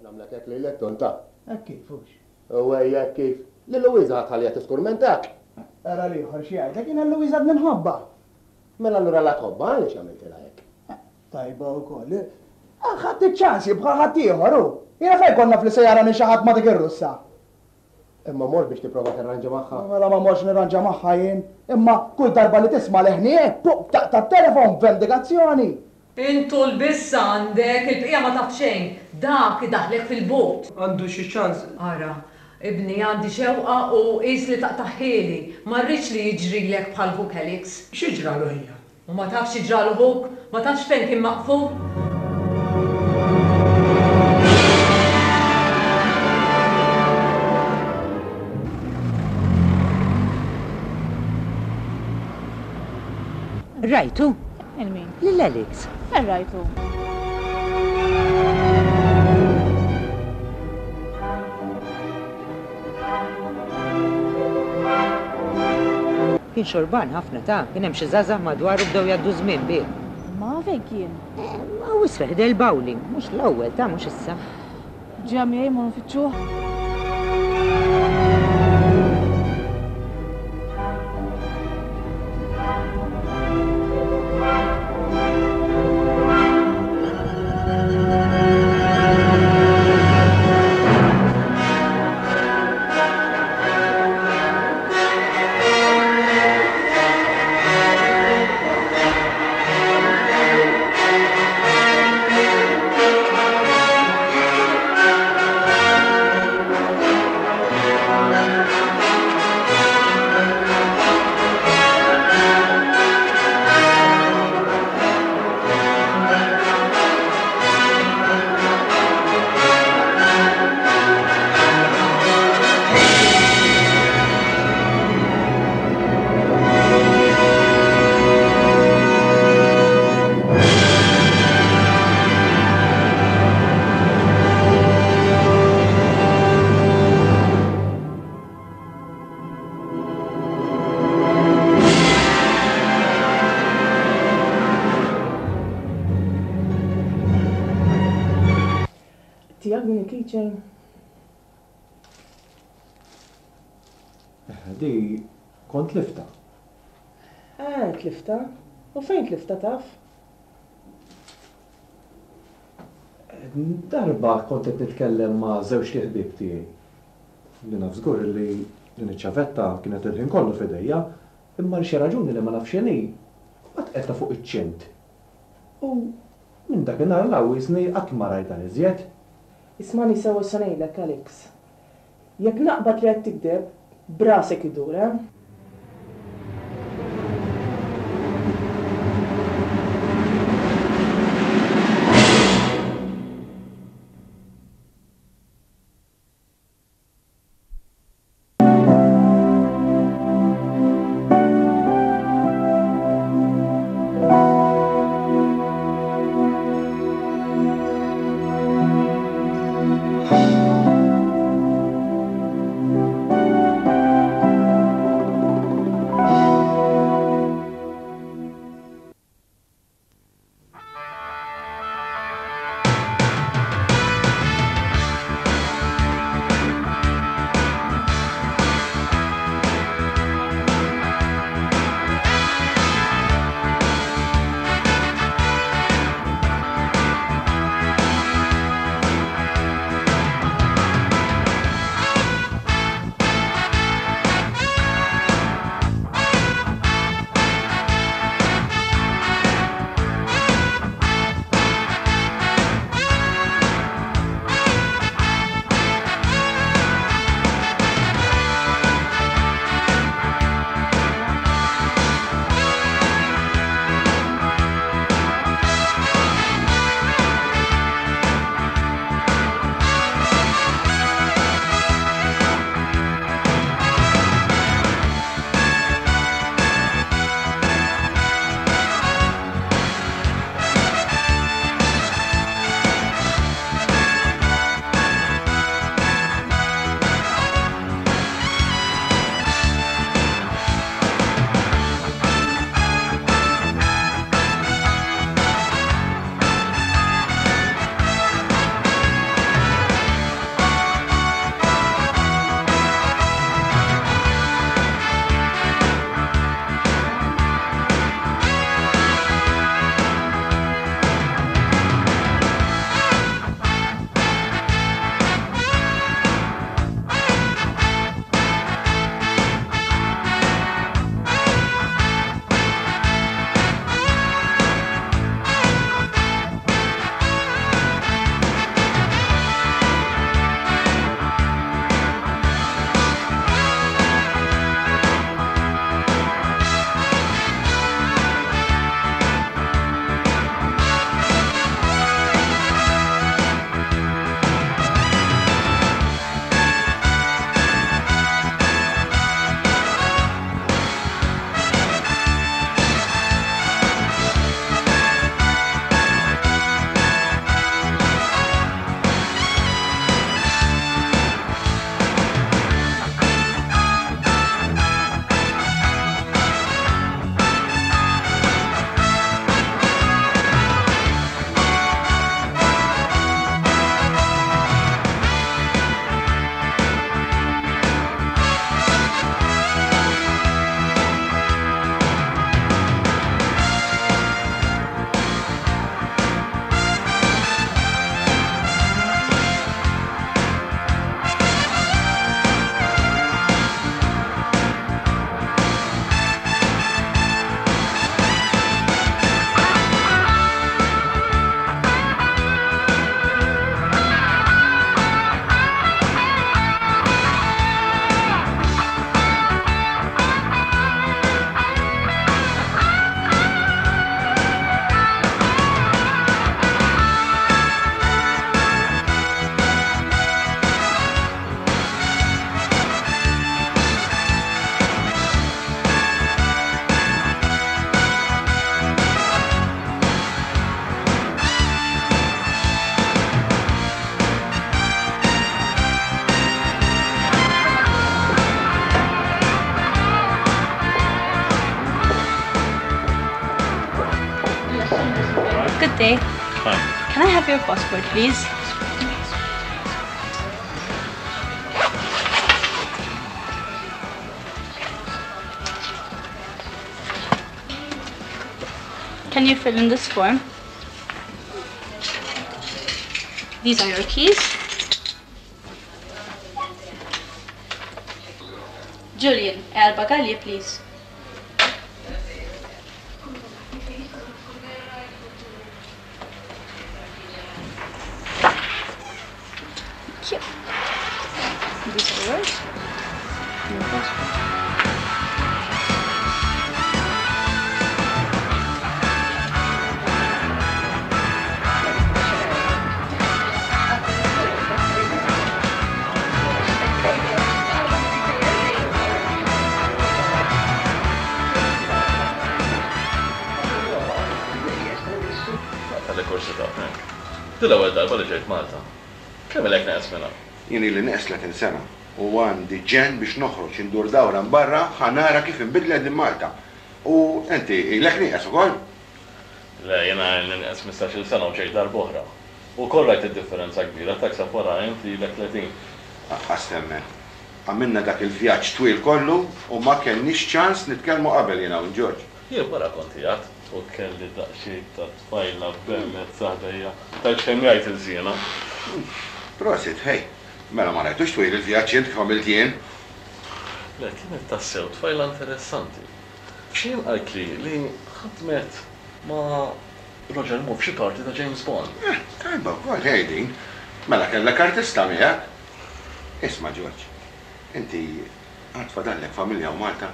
nagħmlek hekk lilek tonta. Hekk kif hux? U ejja hekk kif. Lil Luwiża ħa tħalliha tiskurmentak. Ara l-ieħor x'jgħidlek, jiena lil Luwiża għadni nħobbha. Mela allura la tħobbha għaliex għamiltilha hekk? Tajba wkoll. Ħadt iċ-ċans jien bħal ħaddieħor hu. Jiena fejn kont naf li se jarani xi ħadd ma' dik ir-Russa? Imma mort biex tipprova tirranġa magħha? Mela ma mortx nirranġa magħha jien. Imma kull darba li tisma' leħni hekk, pup, taqta' t-telefon b'vendikazzjoni. Int tul biss għandek, il-bqija ma taf xejn. Dak idaħħlek fil-but. Għandu xi ċans. Ara, ibni, għandi xewqa u qis li taqtagħhieli. Ma rridx li jiġrilek bħal ħuk Alex. Xi ġralu ħija? U ma tafx xi ġralu ħuk? Ma tafx fejn kien maqful? Rajtu? Lil min? Lil Alex. Fejn rajtu? Kien xorban ħafna ta, kien hemm xi żgħażagħ madwaru bdew jgħaddu ż-żmien bih. Ma fejn kien? Hawn isfel ħdejn il-bowling, mhux l-ewwel ta, mhux issa. Ġeja miegħi mmorru nfittxuh? Tiegħek din il-keychain? Di kont tliftha. Ah, tliftha? U fejn tliftha taf? Darba kont qed nitkellem ma' żewġt iħbieb tiegħi. Li naf żgur li din iċ-ċavetta kienet il-ħin kollu f'idejja, imma għal xi raġuni li ma nafx x'inhi, mbagħad qegħdtha fuq iċ-ċint. U minn dakinhar 'l hawn qisni qatt ma rajtha iżjed. Ismagħni sewwa x'se ngħidlek, Alex. Jekk naqbad li qed tigdeb, b'rasek idur, eh? Good day. Hi. Can I have your passport, please? Can you fill in this form? These are your keys. Julian, għal bagalji, please. Thank you. These are yours. Your passport. Għalli kurżità, Frank. Din l-ewwel darba li ġejt Malta. Kemm ilek neqes minn hawn? Jien ili neqes 30 sena u għandi ġenn biex noħroġ indur dawra barra ħa nara kif inbidlet din Malta. U inti ilek nieqes ukoll? Le, jiena ilni nieqes 15-il sena u ġejt darb'oħra. Ukoll rajt id-differenza kbira, taħseb wara int li ilek 30. Aqqas temmen. Għamilna dak il-vjaġġ twil kollu u ma kellniex ċans nitkellmu qabel jiena u George. Jien wara kont qiegħed u kelli daqsxejn ta' tfajla bellezza ħdejja. Tgħidx kemm jgħid il-żiena. Prosit, ħej. Mela ma rajtux twil il-vjaġġ int kif għamilt jien. Le, kienet tassew tfajla interessanti. X'jien qaltli li ħadmet ma' Roger Moore f'xi parti ta' James Bond. Eh, tajba wkoll, ħej din. Mela kellek artista miegħek. Isma' George, inti għad fadallek familja hawn Malta?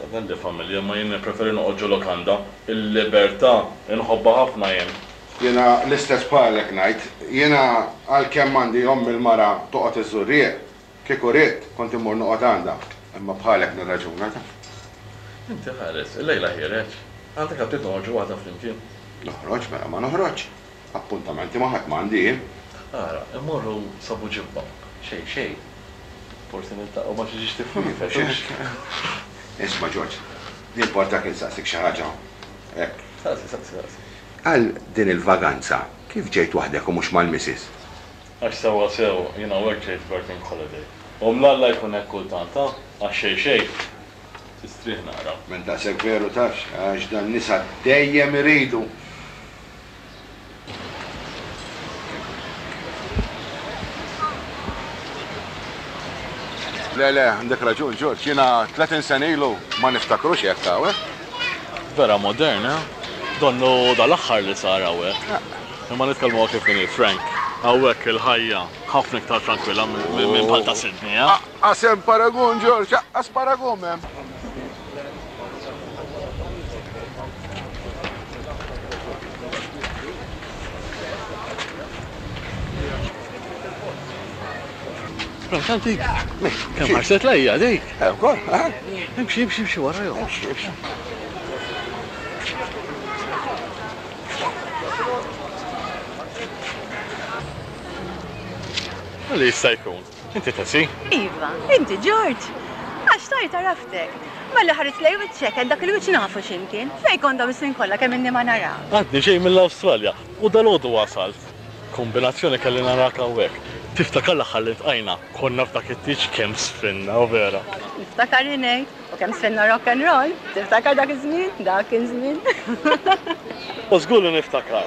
Fadalli familja, imma jien nippreferi noqgħod ġo lokanda. Il-libertà inħobbha ħafna jien. Jiena l-istess bħalek ngħid. Jiena għalkemm għandi ommi l-mara toqgħod iż-Żurrieq, kieku ridt kont immur noqgħod għandha. Imma bħalek nirraġuna taf. Inti ħares, illejla ħiereġ. Għandek aptit noħorġu waħda flimkien? Noħroġ, mela ma noħroġx. Appuntamenti ma' ħadd m'għandi jien. Ara, immorru sa Buġibba. Xejn, xejn. Forsi niltaqgħu ma' xi ġiex tifrifet, hux? Isma' Ġorġ, jimportak insaqsik xi ħaġa? Hekk. Saqsi, saqsi, saqsi. Għal din il-vaganza kif ġejt waħdek u mhux mal-missus? Għax sewwasew jien hawnhekk ġejt working holiday. U mlalla jkun hekk kultant, ha? Għax xejn xejn, tistrieħ naqra. M'int daqshekk veru tafx, għax dan-nisa dejjem iridu. Le, le, għandek raġun, Ġorġ, jiena 30 sena ilu ma niftakrux hekk hawn, eh? Vera modern, eh? Donnu dal-aħħar li sar hawnhekk. Imma nitkellmu kif inhi, Frank. Hawnhekk il-ħajja ħafna iktar tranquilla minn bħal ta' Sydney, eh? Aqqas hemm paragun, Ġorġ, aqqas paragun m'hemm. Frank, dik. Kemm ħarset lejja dik? Eh, ukoll, eh? Imxi, imxi, imxi wara jew. Imxi, imxi. Għalli jista' jkun. Inti Tessie? Iva, inti George. Għax tajt għaraftek. Malli ħares lej wiċċek, għed dak il-wiċċ nafu x'imkien. Fejn kont dawn is-snin kollha kemm inni ma narak. Għadni ġej mill-Awstralja u dalgħodu wasalt. Kombinazzjoni kelli narak hawnhekk. Tiftakar l-aħħar li ltqajna? Konna f'dak it-tieġ kemm sfinna, vera. Niftakar ngħid, u kemm sfinna rock and roll. Tiftakar dak iż-żmien? Dak kien żmien. U żgur li niftakar.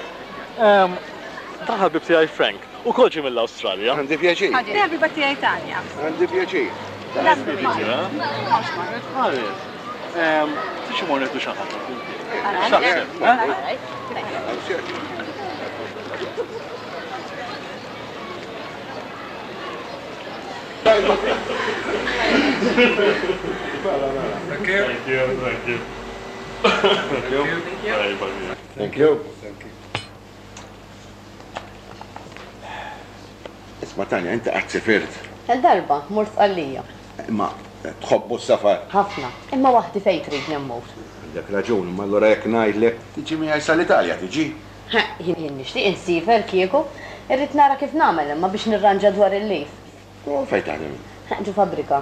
Dan ħabib tiegħi Frank. Ukoll ġie mill-Awstralja. Għandi pjaċir. Din ħabiba tiegħi Tanja. Għandi pjaċir. Ħares. Tix imur nieħdu xi ħaġa flimkien. X'taħseb? Thank you. Thank you, thank you. Thank you. Thank you. Thank you. Isma' Tanja, inti qatt sifirt? Darba, mort Sqallija. Imma tħobbu s-safar? Ħafna. Imma waħdi fejn tridni mmur? Għandek raġun, imma allura jekk ngħidlek tiġi miegħi sal-Italja tiġi? Jien nixtieq insiefer kieku. Irrid nara kif nagħmel imma biex nirranġa dwar il-leave. U fejn taħdem int? Ġo fabbrika.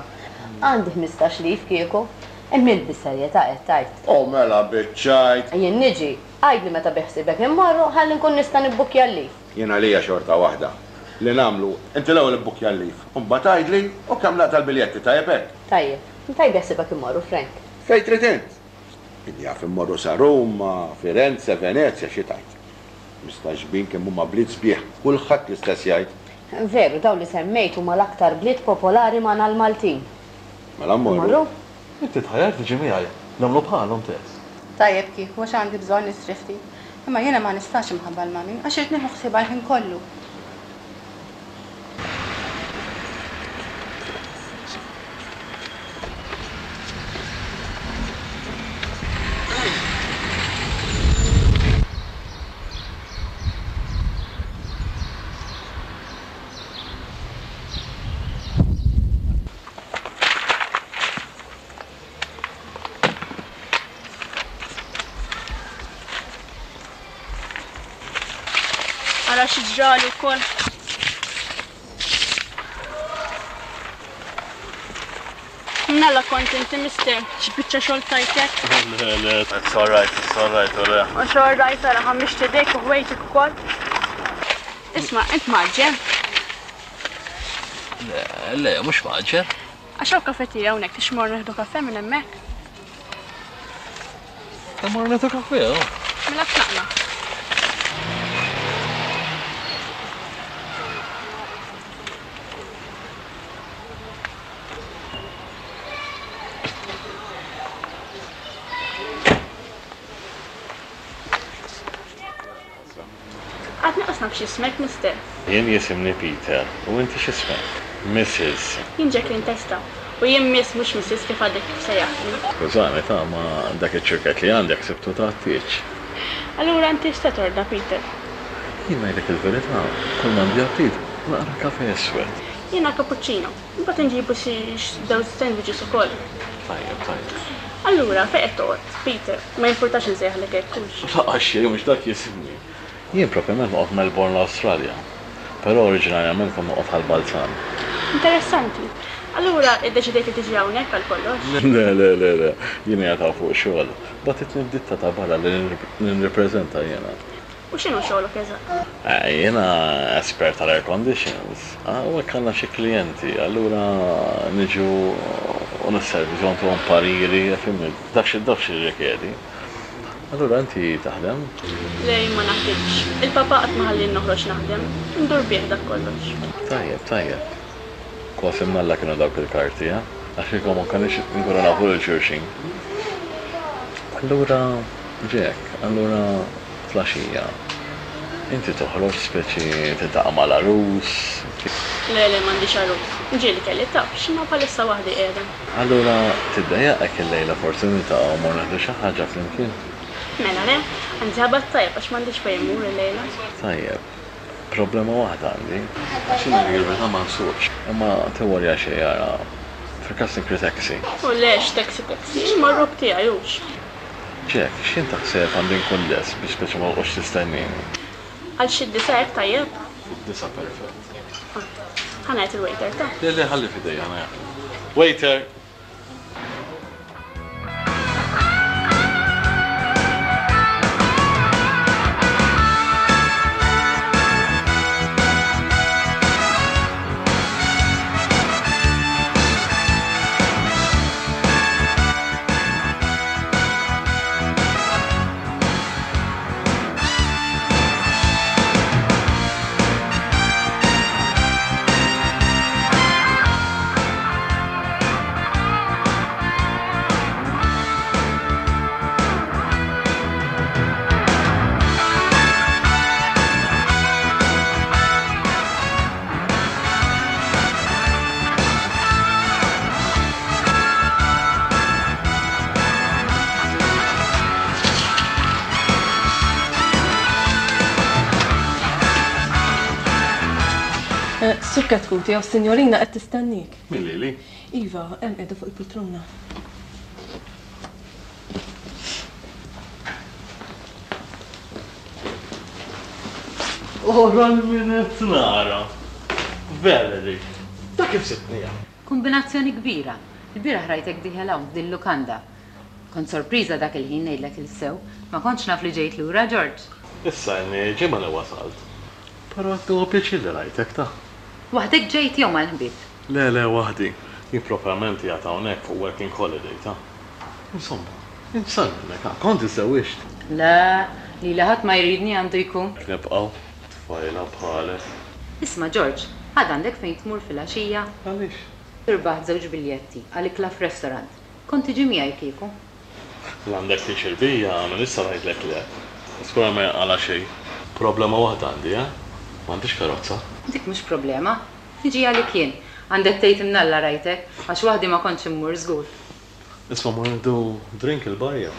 Għandi 15 leave kieku. Imma int bis-serjetà qed tgħid? U mela biċ-ċajt! Jien niġi. Għidli meta biħsiebek immorru ħalli nkun nista' nibbukkja l-leave. Jien għalija xorta waħda. Li nagħmlu, inti l-ewwel ibbukkja l-leave, u mbagħad għidli u kemm naqta' l-biljetti, tajjeb hekk? Tajjeb. Fejn biħsiebek immorru, Frank? Fejn trid int. Min jaf immorru sa Ruma, Firenze, Venezja, xi tgħid. Mistagħġbin kemm huma bliet sbieħ, kulħadd l-istess jgħid. Veru, dawn li semmejt huma l-aktar bliet popolari magħna l-Maltin. Mela mmorru. Mmorru? Inti tħajjart tiġi miegħi, nagħmlu bħalhom Tess. Tajjeb kieku għax għandi bżonn nistrieħ ftit. Imma jiena ma nistax imħabba l-mummy għax irrid nieħu ħsiebha l-ħin kollu. Ara xi ġralu wkoll. Mnalla kont inti mister, x'biċċa xogħol tajtek? Le, le, it's all right, it's all right, u le. Mhux all right ara ħammiġt idejk u ħwejġek ukoll. Isma', int mgħaġġel? Le, le, mhux mgħaġġel. Għax hawn kafetterja hawnhekk, tix mmorru nieħdu kafè minn hemmhekk? Immorru nieħdu kafè, oh. Mela tlaqna. Għadni qas naf x'ismek, Mister. Jien jisimni Peter, u inti x'ismek? Mrs. Jien Jacqueline Testa, u jien Miss mhux Mrs kif għadek kif sejjaħtni. Skużani ta' ma dak iċ-ċirkett li għandek sibtu ta' tieġ. Allura inti x'se tordna, Peter? Jien ngħidlek il-verità, kull m'għandi aptit, naqra kafè iswed. Jiena cappuccino. Imbagħad inġibu xi żewġ sandwiches ukoll. Tajjeb, tajjeb. Allura, fejn qed toqgħod? Peter, ma jimpurtax insejjaħlek hekk, hux? Lanqas xejn, mhux dak jisimni. Jien propjament noqgħod Melbourne l-Awstralja. Però oriġinarjament kont noqgħod Ħal Balzan. Interessanti. Allura iddeċidejt li tiġi hawnhekk għal kollox? Le, le, le, le. Jien qiegħed hawn fuq xogħol. Bagħtitni d-ditta ta' barra li nirrippreżenta jiena. U x'inhu xogħlok eżatt? Jiena espert tal-air conditions. Hawnhekk għandna xi klijenti, allura niġu u nisservizjaw ntuhom pariri, fhimni, dak xi dak x'jirrikjedi. Allura inti taħdem? Le jien ma naħdimx. Il-papà qatt ma ħallieni noħroġ naħdem. Indur bih dak kollox. Tajjeb, tajjeb. Kważi mnalla kienu dawk il-karti, eh? Għax kieku ma konniex inkunu nafu lil xulxin. Allura, Jack, allura Flaxija. Inti toħroġ speċi tiltaqa' mal-għarus? Le, le, m'għandix għarus. Ġieli kelli tafx, imma bħalissa waħdi qiegħda. Allura tiddejjaqek illejla forsi niltaqgħu u mmorru nieħdu xi ħaġa flimkien? Mela le, anzi ħabat tajjeb għax m'għandix fejn immur illejla. Tajjeb. Problema waħda għandi. Għax jien ngħidlek il-verità ma nsuqx. Imma tiworja xejn ara, fil-każ nikri taxi. U le, x'taxi taxi, immorru b'tiegħi hux. Jack, x'ħin taħseb għandi nkun lest biex speċi ma toqgħodx tistennini? Għal xi d-disgħa hekk tajjeb? Id-disgħa perfett. Ah. Ħa ngħid il-waiter ta. Le le ħalli f'idejja ħa ngħid. Waiter! Sur Katkuti, jew sinjorina qed tistennik. Min lili? Iva, hemm qiegħda fuq il-poltrona. Ora l-min qed nara. Valerie, ta' kif sibtni hawn? Kumbinazzjoni kbira. Ilbieraħ rajtek dieħel hawn f'dil-lukanda. Kont sorpriża dak il-ħin ngħidlek il-sew. Ma kontx naf li ġejt lura, George. Issa ilni ġimgħa li wasalt. Però qed nieħu pjaċir li rajtek, ta. Waħdek ġejt jew mal-ħbieb? Le, le, waħdi. Jien proprjament qiegħed hawnhekk fuq working holiday, ta. Insomma, int x'sar minnek, ha? Kont iżżewwiġt? Le, lili ħadd ma jridni għandu jkun. Hekk nibqgħu, tfajla bħalek. Isma' George, għad għandek fejn tmur filgħaxija? Għaliex? Irbaħt żewġ biljetti għal ikla f'restaurant. Kont tiġi miegħi kieku. La għandek pjaċir bija, minn issa ngħidlek le. Żgur ma jinqala' xejn. Problema waħda għandi, eh? M'għandix karozza. Dik mhux problema. Niġi għalik jien. Għandek tgħid imnalla rajtek, għax waħdi ma kontx immur żgur. Isma' mmur nieħdu drink il-bar jew?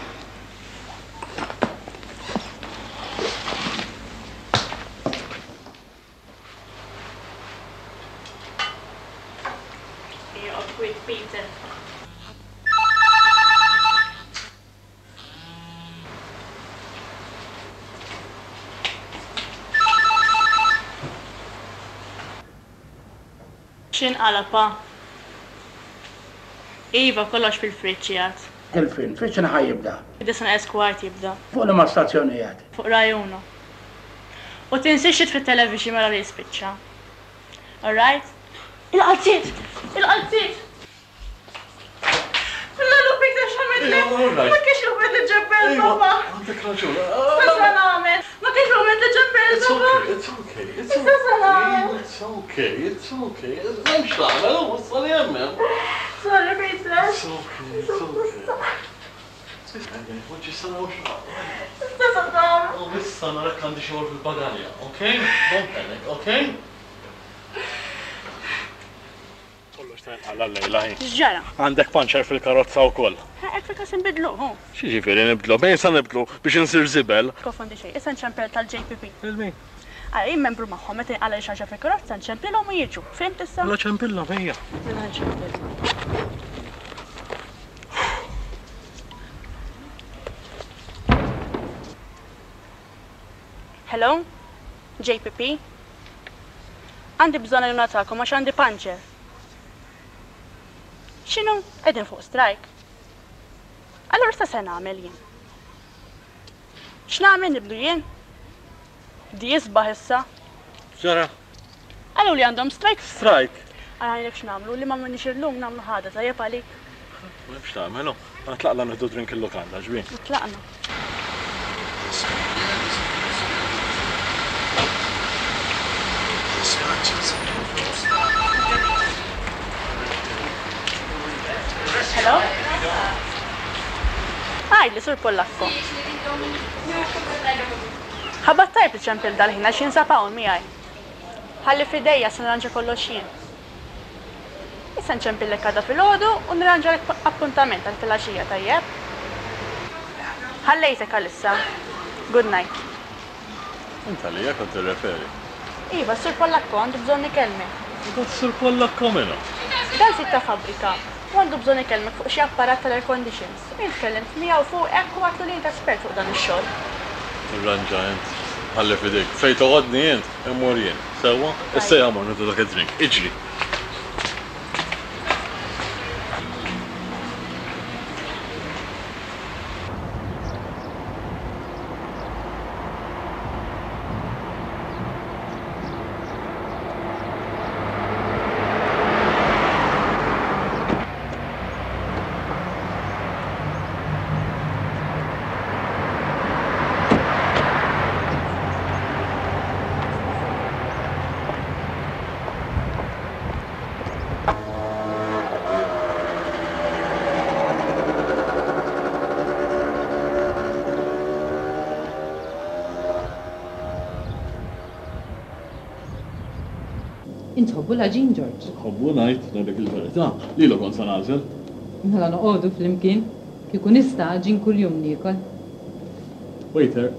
Joqgħod kwiet Peter. X'inqala' pa? Iva, kollox fil-friġġ qiegħed. Il-film fi x'ħin ħa jibda? Fid-disgħa neqes kwart jibda. Fuq liema stazzjon qiegħed? Fuq Rai Uno. U tinsiex titfi t-television wara li jispiċċa. Alright? Il-qalziet! Il-qalziet! Lulu Peter x'għamilli? Ma kienx il-mument li ġebbel papa. Għandek raġun. Issa se nagħmel. Ma kienx il-mument li ġebbel papa. It's okay, it's Issa se nagħmel. It's okay, it's okay. M'hemmx tagħmel, u wassal hemm hemm. Sorry Peter. It's okay, it's okay. Issa se nagħmel. U issa narak għandi xogħol fil-bagalja, okay? Don't panic, okay? Kollox ta' inqala llejla hi. X'ġara? Għandek panċer fil-karozza wkoll. Hekk fil-każ inbidluh, hu. X'jiġifieri nibdlu? Bejn sa nibdlu biex insir żibel. Tkonfondi xejn, issa nċempel tal-JPP. Lil min? Ara, jien membru magħhom, meta jinqala' xi ħaġa fil-karozza nċempilhom u jiġu. Fhimt issa? Mela ċempilhom, ejja. Mela nċempel. Hello? JPP? Għandi bżonn għajnuna tagħkom għax għandi puncture. X'inhu? Qegħdin fuq strike. Allura issa se nagħmel jien? X'nagħmel nibdu jien? Di isbaħ issa. X'ġara? Qalu li għandhom strike. Strike? Ara ngħidlek x'nagħmlu, li m'għamilniex illum nagħmlu ħada tajjeb għalik. M'hemmx tagħmel, hu. Mela tlaqna nieħdu drink il-lukanda, ġbin. Tlaqna. Hello? Għidli, Sur Pollakko. Ħabat tajjeb li ċempilt dal-ħin għax jinsab hawn miegħi. Ħalli f'idejja se nirranġa kollox jien. Issa nċempillek għada filgħodu u nirranġalek appuntament għal filgħaxija tajjeb? Ħallejtek għalissa. Good night. Int għalija kont tirreferi? Iva, s-Sur Pollakko għandu bżonn ikellmek. U dan s-Sur Pollakko min hu? Dan sid ta' fabbrika u għandu bżonn ikellmek fuq xi apparat tal-air conditions. U jien tkellimt miegħu fuqek u għadtlu li int espert fuq dan ix-xogħol. Irranġa int. Ħalli f'idejk. Fejn toqgħodni int, immur jien. Sewwa? Issa ejja mmorru nieħdu dak id-drink. Iġri! Int tħobbu l-għaġin, Ġorġ? Nħobbu ngħid, ngħidlek il-verità, lilu kont se nagħżel. Mela noqogħdu flimkien. Kieku nista' għaġin kuljum niekol. Waiter.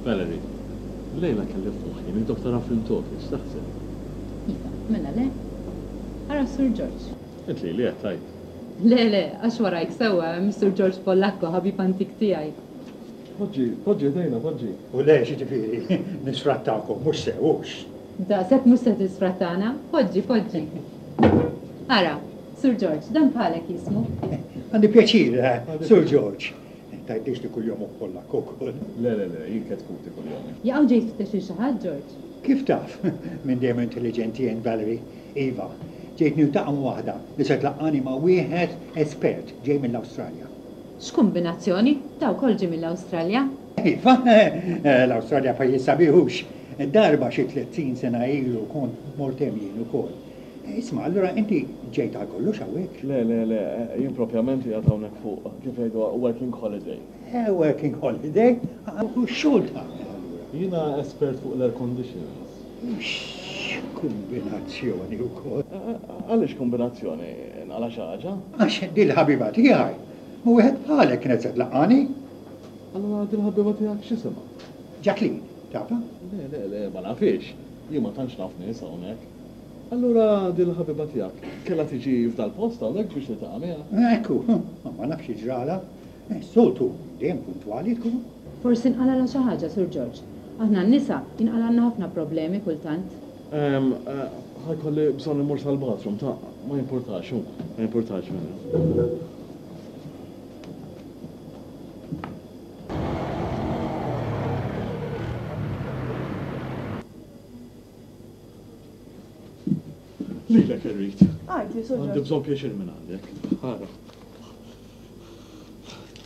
Valerie, Illejla kelli f'moħħi nieħdok tara film talkies, x'taħseb? Iva, mela le? Ara s-Sur Ġorġ. Int lili qed tgħid? Le, le, għax warajk sewwa hemm is-Sur George Pollacco, ħabib antik tiegħi. Poġġi, poġġi ħdejna, poġġi. U le, x'jiġifieri, nisfrattakom, mhux sew, hux? Daqshekk mhux se tisfrattana. Poġġi, poġġi. Ara, Sur George, dan bħalek jismu. Għandi pjaċir, Sur George. Tgħidlix li kuljomok Pollakk ukoll. Le, le, le, jien ketkuti kuljomi. Jaqaw ġej tfittex lil xi ħadd, George? Kif taf? Minn dejjem intelliġenti int, Valerie. Iva, ġejt niltaqa' ma' waħda li se tlaqqagħni ma' wieħed espert ġej mill-Awstralja. X'kumbinazzjoni! Da wkoll ġie mill-Awstralja. Iva, l-Awstralja pajjiż sabiħ hux? Darba xi 30 sena ilu kont mort hemm jien ukoll. Isma', allura inti ġejt għal kollox hawnhekk? Le, le, le, jien propjament qiegħed hawnhekk fuq, kif jgħiduha, working holiday. Working holiday? U x'xogħol tagħmel allura? Jiena espert fuq l-air conditioners. X'kumbinazzjoni wkoll! Għaliex kumbinazzjoni? Inqala' xi ħaġa? Għax dil-ħabiba tiegħi ma' wieħed bħalek kienet se tlaqqagħni. Allura dil-ħabiba tiegħek x'isimha? Jacqueline, tafha? Le, le, le, ma nafhiex. Jien ma tantx naf nies hawnhekk. Allura dil-ħabiba tiegħek kellha tiġi f'dal-post hawnhekk biex niltaqa' miegħha? Hekk hu. Ma nafx xi ġralha. Is-soltu dejjem puntwali tkun. Forsi nqalgħalha xi ħaġa, Sur Ġorġ. Aħna n-nisa jinqalgħalna ħafna problemi kultant. Ħa jkolli bżonn immur sal-bathroom, ta' ma jimpurtax, hu, ma jimpurtax vera. Lilek irrid. Għidli, Sur Ġorġ. Għandi bżonn pjaċir minn għandek. Ara.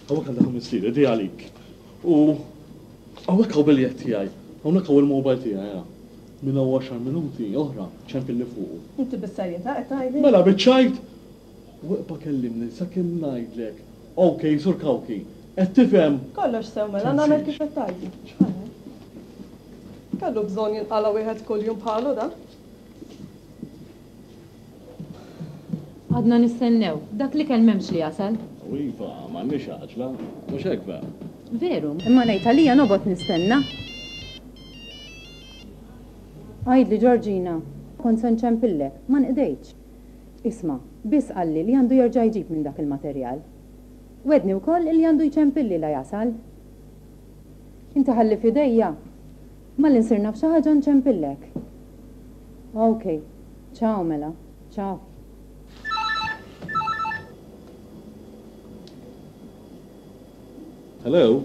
Hawnhekk għandek missieri, di għalik. U hawnhekk hawn biljett tiegħi. Hawnhekk hawn il-mobile tiegħi, ara. Minn hawn għaxar minuti oħra ċempilli fuqu. Inti bis-serjetà qed tgħidli? Mela biċ-ċajt! U iqba' kellimni sakemm ngħidlek. Ok, Sur Cauchi. Qed tifhem? Kollox sew mela, nagħmel kif qed tgħidli. Kellu bżonn jinqala' wieħed kuljum bħalu dan. Għadna nistennew. Dak l-ikel m'hemmx li jasal. U iva, m'għandniex għaġla. Mhux hekk vera? Veru, imma ngħid għalija nobgħod nistenna. Għidli Ġorġina, kont se nċempillek, ma nqdejtx. Isma', biss qalli li għandu jerġa' jġib minn dak il-materjal. Wegħdni wkoll illi għandu jċempilli la jasal. Inti ħalli f'idejja. Malli nsir naf xi ħaġa nċempillek. Ok. Ciao mela. Ciao. Hello?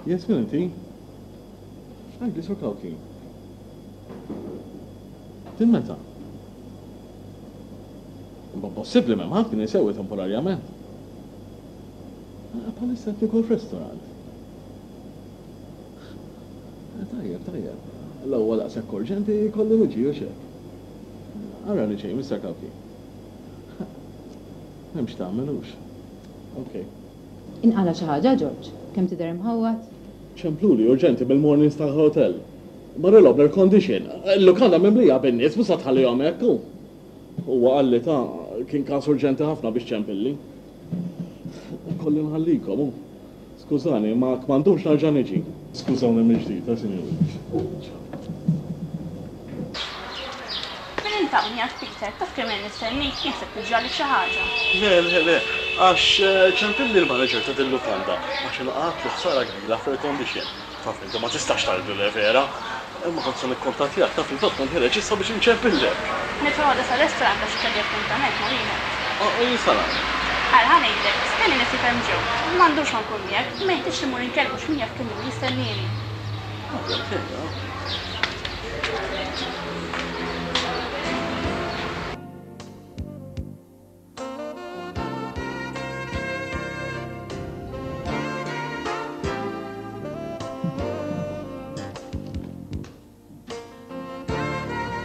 Yes, min inti? Għidli Sur Cauchi. Din meta? Imma possibbli m'hemm ħadd kien isewwi temporarjament. Bħalissa qed niekol f'restaurant. Tajjeb, tajjeb. La huwa daqshekk urġenti jkolli niġi, hux hekk? Arani ġej, Mister Cauchi. M'hemm x'tagħmel, hux? Ok. Inqala' xi ħaġa, George? Kemm tidher imħawwad? Ċempluli urġenti mill-Morning Star Hotel. Marrilhom l-air condition. Il-lukanda mimlija bin-nies, mhux se tħallihom hekk, hu. Huwa qalli ta' kien każ urġenti ħafna biex ċempilli. Ikolli nħallikom, hu. Skużani, imma ma ndumx nerġa' niġi. Skużawni mill-ġdid, eh, sinjuri. Ciao. Min int hawn qiegħed Peter, taf kemm ilni nistennik, jien ħsibt li ġralek xi ħaġa. Le, le, le, għax ċempilli l-manager ta' dil-lukanda għax inqatlu ħsara kbira fl-air condition. Taf inti ma tistax tgħidlu le vera. Imma kont se nikkuntattjak, taf fil-fatt kont ħiereġ issa biex inċempillek. Nidħol għada sar-restaurant għax kelli appuntament ma' wieħed. U jien sa nagħmel? Ara ħa ngħidlek, stennieni ftit hemm ġew. Ma ndumx ma nkun miegħek, imma jeħtieġ li mmur inkellmu għax min jaf kemm ilu jistennieni. Għada, ejja.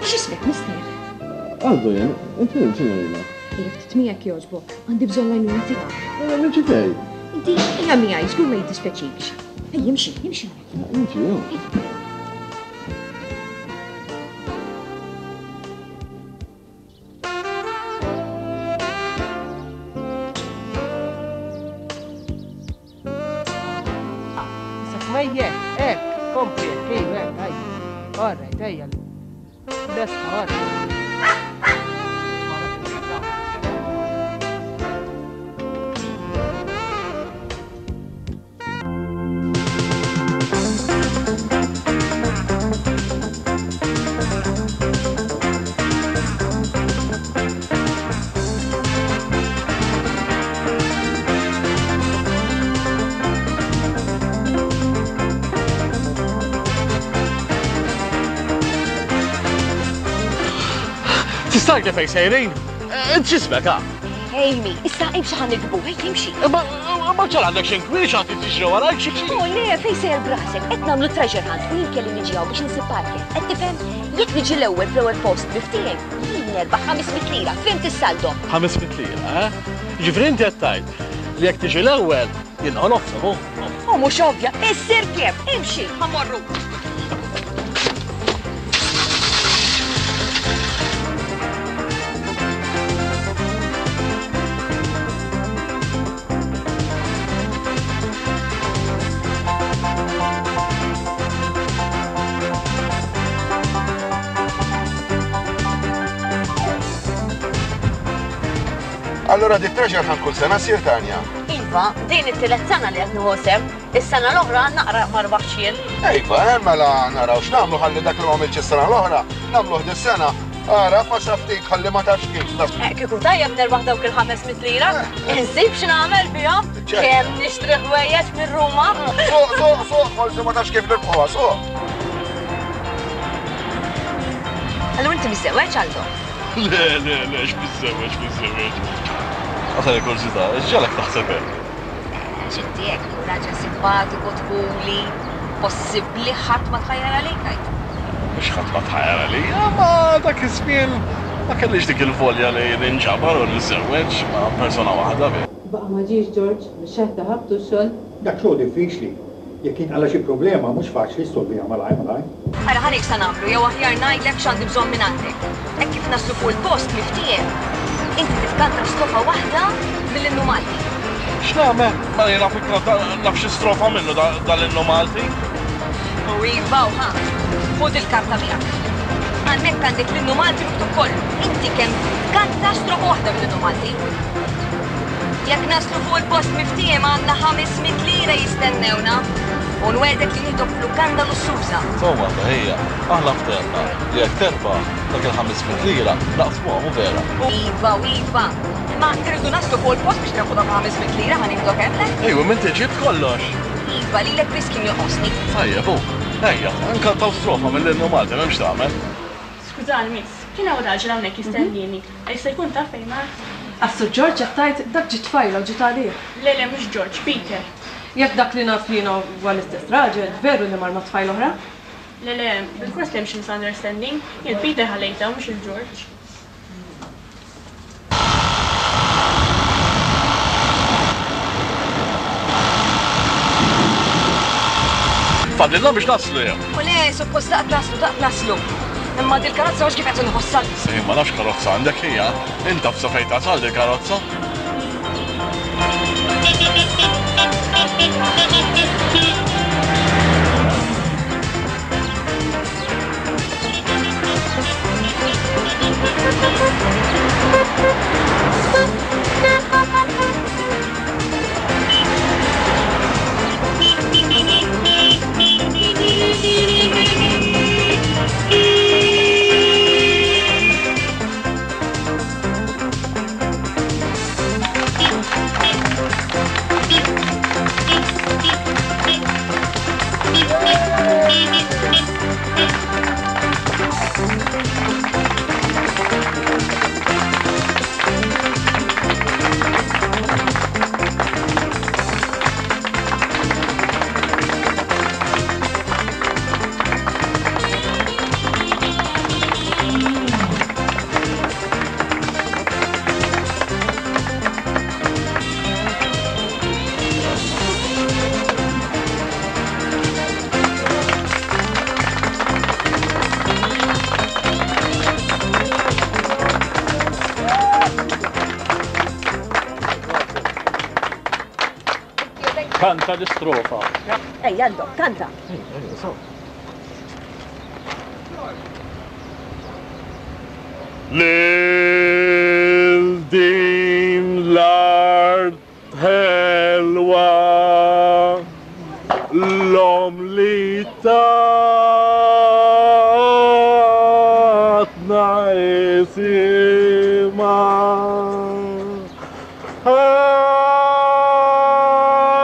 X'ismek, mister? Aldo jien, inti min, signorina? Ejja ftit miegħek jogħġbok, għandi bżonn l-għajnuna tiegħek. Mela niġi fejn? Inti ejja miegħi, żgur ma jiddispjaċikx. Ejja imxi, imxi. Niġi, jew. Ejja, hekk, kompli hekk, ejja, hekk, ejja. All right, ejja. Lesta, all right. Tista' tgħidli fejn sejrin? Int x'ismek, ha? Amy, issa imxi ħa nikbu, ejja imxi. Imma imma ġara għandek xi nkwiet xi ħadd jiġri warajk xi xi. Oh le, fejn sejjer b'rasek? Qed nagħmlu treasure hunt u jien kelli niġi hawn biex insib Parker. Qed tifhem? Jekk niġi l-ewwel fl-ewwel post miftiehem, jien nerbaħ 500 lira, fhimt is-saldo? 500 lira, eh? Jiġifieri inti qed tgħid li jekk tiġi l-ewwel jien nieħu nofshom, hu? U mhux ovvja, issir kemm, imxi, ħa mmorru. Allura di treasure hunt kull sena ssir Tanja? Iva, din it-tielet sena li qed nieħu sehem. Is-sena l-oħra naqra ma rbaħtx jien. Iva, eh, mela naraw x'nagħmlu ħalli dak li m'għamilx is-sena l-oħra, nagħmluh dis-sena. Ara, passa ftit ħalli ma tafx kif. Eh, kieku tajjeb nerbaħ dawk il-500 lira, insib x'nagħmel bihom, kemm nixtri ħwejjeġ minn Ruma. Suq, suq, suq, forsi ma tafx kif nirbħuha, suq. Allura inti miżżewweġ Aldo? Le, le, le, x'miżżewweġ, miżżewweġ. Għasal il-kurżità, x'ġalek taħseb hekk? Għax inti hekk, raġel simpatiku, dħuli, possibbli ħadd ma tħajjar għalik għid. Mhux ħadd ma tħajjar għalija, ma dak iż-żmien ma kellix dik il-volja li ninġabar u niżżewweġ ma' persuna waħda biss. Baqa' ma ġiex George, mix-xeħ ta' ħabtu x-xogħol? Dak xogħol diffiċli. Jekk jinqala' xi problema mhux faċli ssolviha malajr malajr. Ara ħa ngħid x'sa nagħmlu jew aħjar ngħidlek x'għandi bżonn mingħandek. Hekk kif naslu fuq il-post miftiehem, inti titkanta strofa waħda mill-Innu Malti. X'nagħmel? Mela jien naf inkanta naf xi strofa minnu dal-Innu Malti. U iva u ħa, ħu dil-karta miegħek. Hemmhekk għandek l-Innu Malti miktub kollu. Inti kemm tkanta strofa waħda mill-Innu Malti. Jekk naslu fuq il-post miftiehem għandna 500 lira jistennewna. U nwegħdek li nieħdok f'lukanda lussuża. Insomma, ħija, aħna ftehemna li jekk terbaħ dak il-500 lira naqsmuhom, hu vera? Iva u iva. Imma irridu naslu fuq il-post biex nirbħu dawk il-500 lira ħa nieħdok hemm, le? Ejwa, m'inti ġibt kollox. Iva, lilek biss kien joqosni. Tajjeb, hu. Ejja, nkantaw strofa mill-Innu Malti, m'hemmx x'tagħmel. Skużani, miss, kien hawn raġel hawnhekk jistennieni. Jista' jkun taf fejn mar? Għas-Sur George qed tgħid? Dak ġiet tfajla u ġiet għalih. Le, le, mhux George, Peter. Jekk dak li naf jiena huwa l-istess raġel, veru li mar ma' tfajla oħra? Le, le, bilfors li hemm xi misunderstanding. Jien Peter ħallejtha u mhux lil George. Fadlilna biex naslu jew? U le, suppost daqt naslu, daqt naslu. Imma dil-karozza mhux kif qed inħossha. Sejn ma nafx karozza għandek hija. Int taf sa fejn tasal dil-karozza? Kanta l-istrofa. Ejja, Aldo, kanta. Lil din l-art ħelwa l-om li tatna isimha.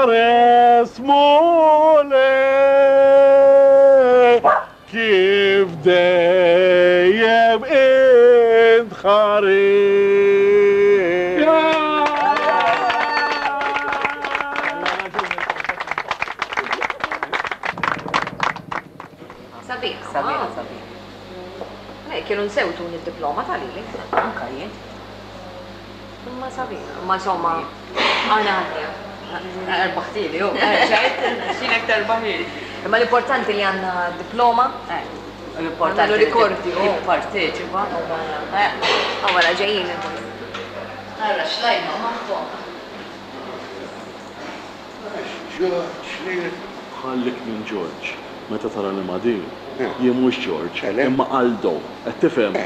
Ħares Mulej kif dejjem int. Aħħari! Sabiħ. Sabiħ, sabiħ. Le, kienu nsew tuni d-diploma ta' lili. Anka jien. Imma sabiħ. Imma insomma, aħna ħadniha. Erbaħtili, hu. Ċert, xinek terbaħili. Imma l-importanti li għandna diploma. L-importanti li rikordi, oh. Tipparteċipa. Għawara ġejjin il-boys. Ara, xlajma magħhom. Ħallik minn George. Meta tarani ma' din, jien mhux George, imma Aldo. Qed tifhem?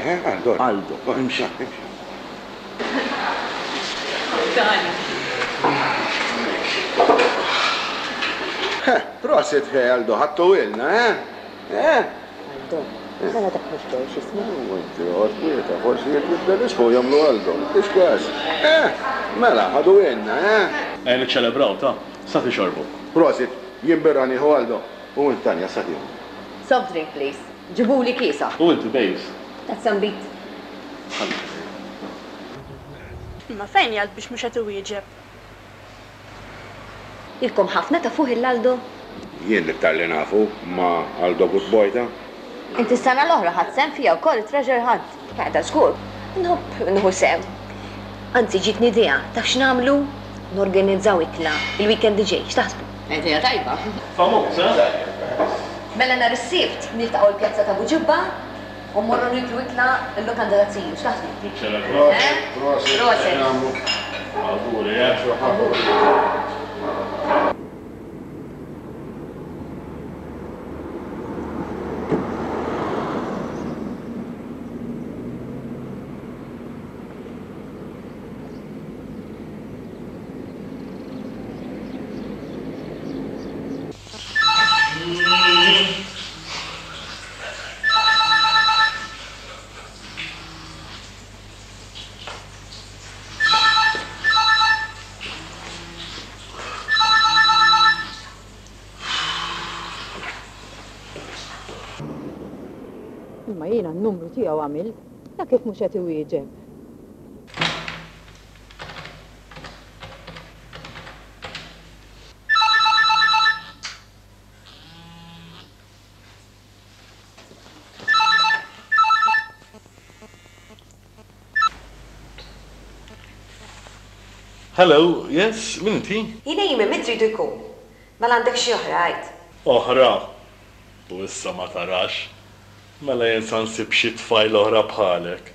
Aldo. Imxi. Prosit ħe Aldo, ħadtu ilna, eh? Eh? Aldo, mela dak mhux George jismu. U inti oqgħod kwieta, forsi jekk jibdel ismu jagħmlu Aldo. M'intix każ. Eh? Mela, ħadu ilna, eh? Ejja niċċelebraw, ta. Sa tixorbu. Prosit, jien birra nieħu Aldo, u int Tanja sa tieħu. Soft drink please. Ġibuli kiesaħ. U inti babes? Tazza nbid. Ħalli. Imma fejn jgħid biex mhux qed iwieġeb? Ilkom ħafna tafuh 'il Aldo? Jien l-iktar li nafu, ma Aldo good boy ta. Inti s-sena l-oħra ħadt sehem fiha wkoll it-treasure hunt. Qiegħda żgur. Nħobb nieħu sehem. Anzi ġietni idea, taf x'nagħmlu? Norganizzaw ikla il-weekend li ġej, x'taħsbu? Idea tajba. Famuż, eh? Mela nhar is-Sibt niltaqgħu l-pjazza ta' Buġibba u mmorru nieklu ikla l-lukanda ta' Ziju, x'taħsbu? Niċċelebraw. Eh? Prosit, Prosit. Awguri, eh? Awguri. Imma jiena n-numru tiegħu għamilt, la kif mhux qed iwieġeb. Hello, yes, min inti? Jien Amy, min tridu jkun? Mela għandek xi oħra, għid. Oħra? U issa ma tarax? Mela jien sa nsib xi tfajla oħra bħalek.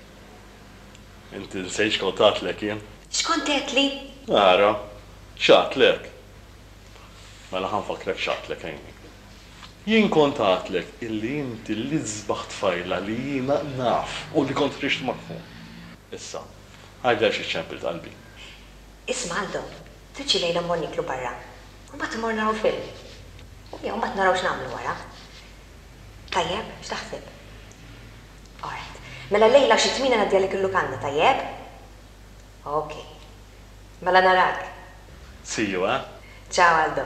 Inti nsejt x'kont għadtlek jien? X'kont għedtli? Ara, x'għadtlek? Mela ħa nfakkrek x'għadtlek, Amy. Jien kont għadtlek illi inti l-isbaħ tfajla li jiena naf u li kont ħriġt magħhom. Issa, għidli għaliex iċċempilt qalbi. Isma' Aldo, trid xi lejla mmorru nieklu barra u mbagħad immorru naraw film. Jew mbagħad naraw x'nagħmlu wara. Tajjeb, x'taħseb? All right. Mela llejla xi tmiena ngħaddi għalik il-lukanda, tajjeb? Ok. Mela narak. See you, eh? Ciao Aldo.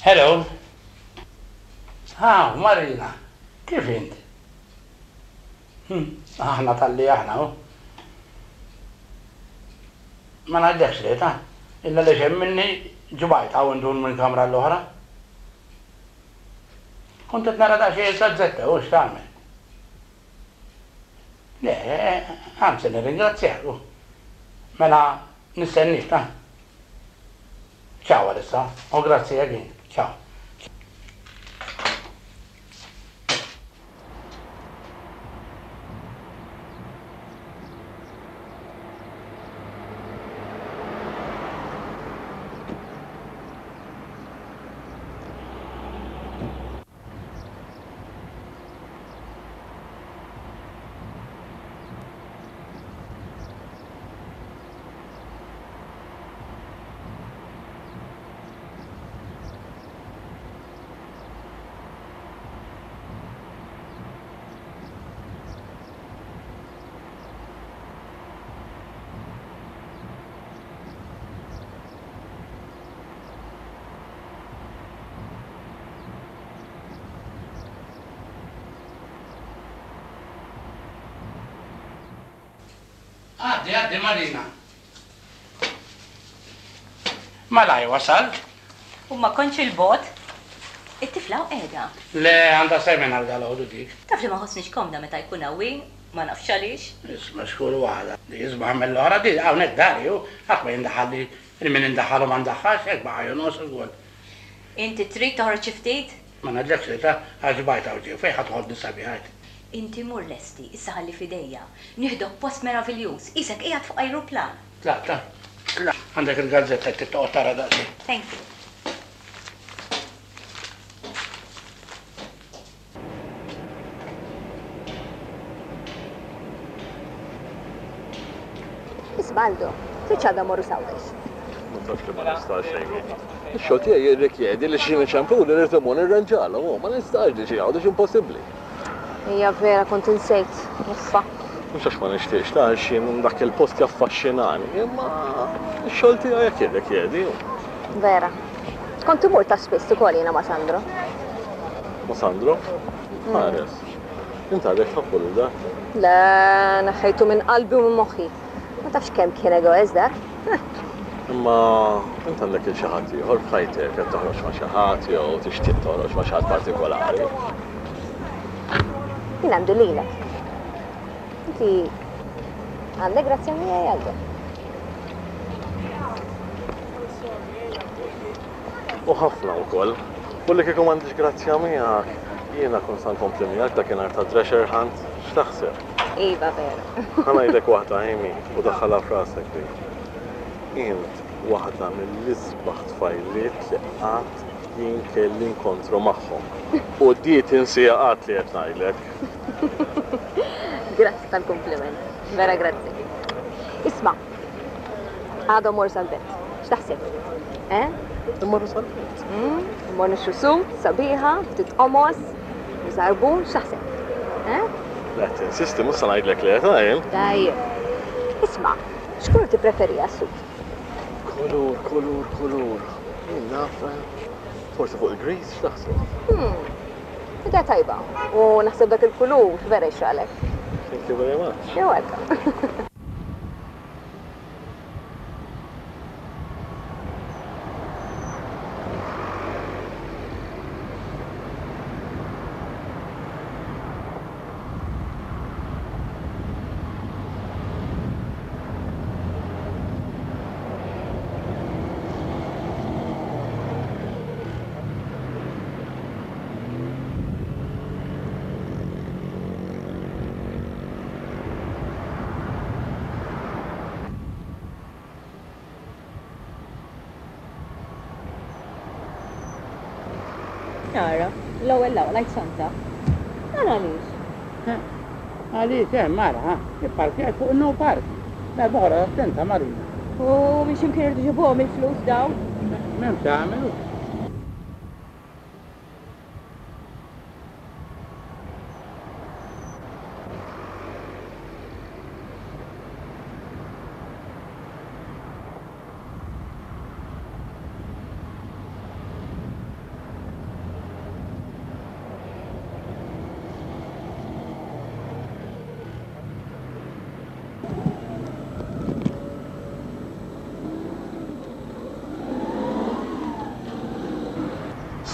Hello. Ha, Marina, kif int? Hm, aħna talli aħna, hu. Ma ngħidlekx le, ta. Illa li hemm minni ġbajt hawn indur minn kamra l-oħra. Kont qed nara daqsxejn il-gazzetta, u x'tagħmel? Le, anzi nirringrazzjak, u. Mela nistennik, ta. Ciao għalissa, u grazzi again. Ciao. Għaddi, għaddi Marina. Malaj wasalt. U ma kontx 'il bogħod. It-tifla hawn qiegħda. Le, għandha seminar dalgħodu dik. Taf li ma ħossnix komda meta jkun hawn hi, ma nafx għaliex. Isma' x'kull waħda. Di isbaħ mill-oħra, di hawnhekk dari hu, ħadd ma jindaħal li 'l min indaħħal u ma ndaħħalx, hekk baqa' jonqos ukoll. Inti trid toħroġ xi ftit? Ma ngħidlekx li ta, għax xbajt hawn ġew, fejn ħa toħodni sabiħa għid? Inti mur lesti, issa ħalli f'idejja. Nieħdok post meraviljuż, qisek qiegħed fuq ajruplan. Tlaq, tlaq, tlaq. Għandek il-gazzetta jekk trid toqgħod tara daqsxejn. Thank you. Isma' Aldo, tridx għada mmorru s'Għawdex? Ma tafx li ma nistax, Amy. Ix-xogħol tiegħi jirrikjedi li xi niċempuli rrid immur nirranġalhom u ma nistax niġi Għawdex impossibbli. Hija vera kont insejt, uffa. Mhux għax ma nixtieqx ta' għax jien dak il-post jaffaxxinani, imma x-xogħol tiegħi hekk jirrikjedi. Vera. Kont imur ta' spiss ukoll jiena ma' Sandro. Ma' Sandro? Ħares. Int għadek tħobbu lil dak? Le, neħħejtu minn qalbi u minn moħħi. Ma tafx kemm kien egoist dak. Imma int għandek il xi ħadd ieħor f'ħajtek, qed toħroġ ma' xi ħadd jew tixtieq toħroġ ma' xi ħadd partikolari. Jien għandi lilek. Inti għandek grazzja miegħi Aldo. U ħafna wkoll. U li kieku m'għandix grazzja miegħek, jiena kont sa nkompli miegħek dakinhar ta' treasure hunt, x'taħseb? Iva vera. Ħa ngħidlek waħda Amy u daħħalha f'rasek din. Int waħda mill-isbaħ tfajliet li qatt jien kelli inkontru magħhom. U di tinsiha qatt li qed ngħidlek. Grazzi tal-kumpliment. Vera grazzi. Isma', Għada mmorru sal-belt. X'taħseb? Eh? Immorru sal-belt. Mm, immorru nixtru sut, sabiħa, ftit qomos, u żarbun, x'taħseb? Eh? Le, tinsisti, mhux se ngħidlek le, ta' jien. Tajjeb. Isma', x'kulur tippreferiha s-sut? Kulur, kulur, kulur. Jien naf, eh, forsi fuq il-gris, x'taħseb? Hmm. Idea tajba. U naħseb dak il-kulur vera jixraqlek. Thank you very much. You're welcome. Ara, l-ewwel l lajt santa. Dan għaliex? Għaliex hemm ara, ha, ipparkjajt fuq in-no parking. Darba oħra attenta Marina. U minn x'imkien irridu ġibuhom il-flus dawn? M'hemmx tagħmel.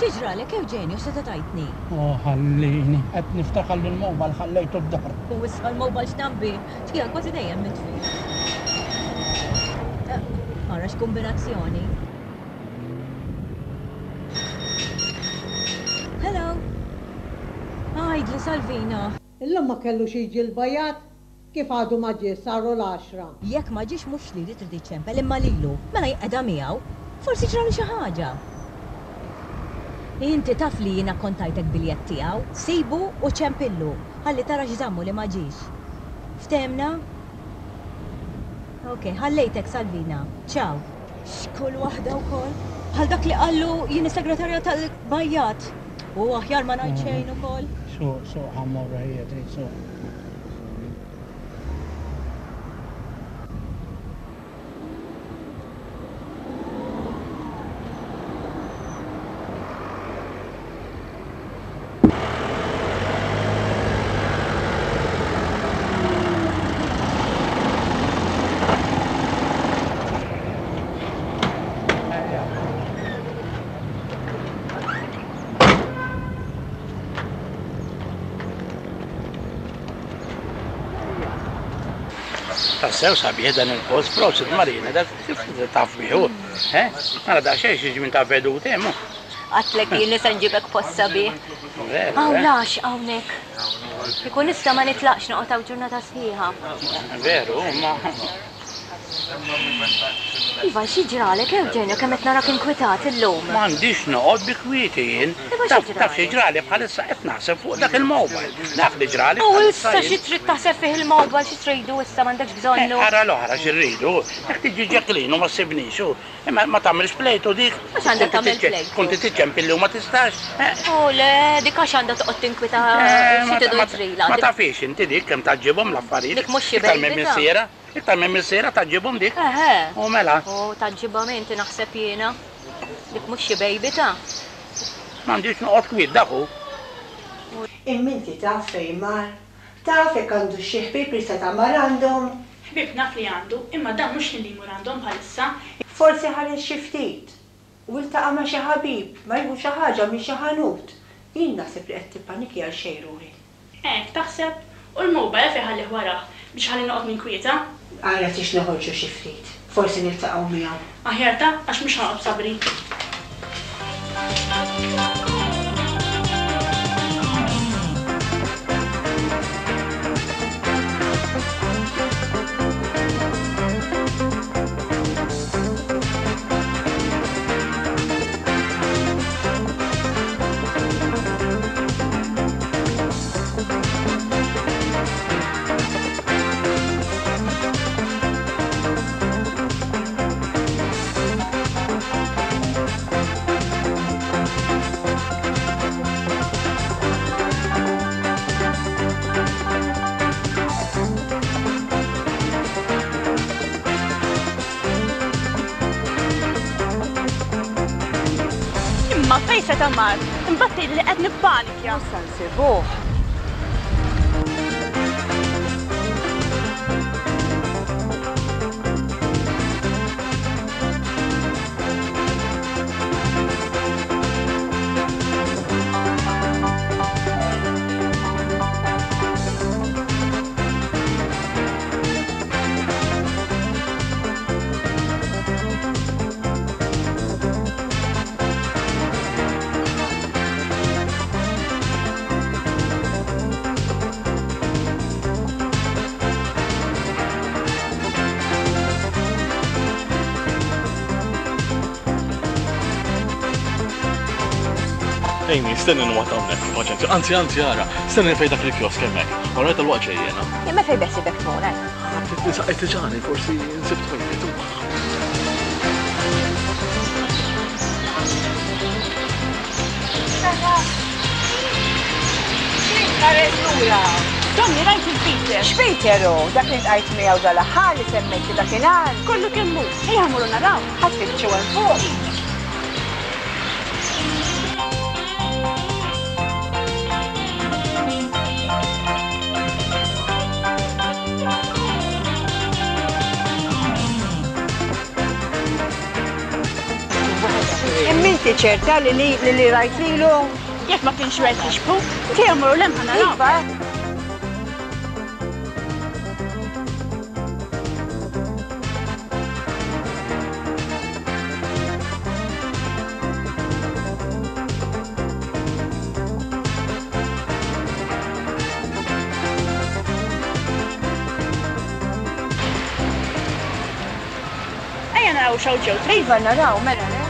Xi ġralek Eugenio x'seta' tgħidni? Oh ħallini, qed niftakar li l-mobile ħallejtu d-dar. U issa l-mobile x'naf bih? Tiegħek kważi dejjem mitfi. Ara x'kumbinazzjoni. Hello. Għidli Salvina. Illum ma kellux jiġi l-bajat? Kif għadu ma ġie saru l-għaxra. Jekk ma ġiex mhux lili trid iċċempel imma lilu. Mela jqegħda miegħu. Forsi ġralu xi ħaġa. Inti taf li jiena kont tajtek biljett tiegħu. Sibu u ċempillu. Ħalli tara x'żammu li ma ġiex. Ftehemna? Ok, ħallejtek Salvina. Ciao. X'kull waħda wkoll. Bħal dak li qallu jien is-segretarja tal-bajjat. U aħjar ma ngħid xejn ukoll. Suq, suq ħa mmorru ħija trid suq. Tassew sabiħ dan il-post, prosit Marina, dak kif taf bih hu. Eh? Ara daqsxejn xi żmien ta' veduti hemm hu. Għedtlek jien li se nġibek post sabiħ. Veru, Hawn eh? l-għaxqa hawnhekk. Kieku nista' ma nitlaqx noqgħod hawn ġurnata sħiħa. Veru, ma. Iva, xi ġralek Eugenio kemm qed narak inkwitat illum? M'għandix noqgħod bi kwieti jien. Iva xi Taf taf xi ġralek? ġrali bħalissa qed naħseb fuq dak il-mobile. Dak li ġrali U bħalissa issa xi jien. trid taħseb fih il-mobile, xi tridu issa m'għandekx Eh, bżonnu? ara l-oħra xi rridu. Jekk tiġi Jacqueline u ma ssibnix u imma ma tagħmilx plejtu dik. Għax għandha Konti tagħmel tiċċe- plejtu? Konti tiċċempilli u ma tistax. Eh, U le, dik għax għandha toqgħod tinkwita eh, xi ma tidu ma jiġrilha. ma Dik tafix inti dik kemm taġġibhom l-affarijiet. Dik mhux xi Iktar minn baby ta'. missiera. Iktar minn missiera taġġibhom dik. Eħe. U mela. U taġġibhom inti naħseb jiena. Dik mhux xi baby ta'. M'għandix noqgħod kwiet dak hu. Imma inti taf fejn mar? Taf jekk għandux xi ħbieb li seta' mar għandhom? Ħbieb naf li għandu, imma dan mhux ħin li jmur għandhom bħalissa. Forsi ħareġ xi ftit u ltaqa' ma' xi ħabib, ma jieħu xi ħaġa minn xi ħanut. Jien naħseb li qed tippaniki għal xejn ruħi. Hekk taħseb? U l-mobile għalfejn ħallih warah? Biex ħalli noqgħod ninkwieta? Ara tix noħorġu xi ftit. Forsi niltaqgħu miegħu. Aħjar ta, għax mhux ħa noqgħod b'sabri. Imma fejn seta' mar? Imbagħad tgħidli li qed nippanikja. Mhux se nsibuh. Amy, stenni nwaqt hawnhekk, paċenzja. Anzi, anzi, ara, stenni fejn dak il-kiosk hemmhekk. Ora tal-waqt ġejjena. Imma fejn beħsibek tmur, eh? Qed tiġani, forsi nsib toilet. Ħares lura. Tommy, rajt il-Peter. X'Peter hu? Dak li ltqajt miegħu dal-aħħar li semmejtli dakinhar? Kollu kemm hu. Ejja mmorru naraw. Ħa tfittxu hemm fuq. Imma inti ċerta li li li rajt lilu? Jekk ma kienx wieħed jixbhu, ejja mmorru 'l hemm ħa naraw. Iva. Ejja naraw x'hawn ġew trid. Iva naraw, mela le.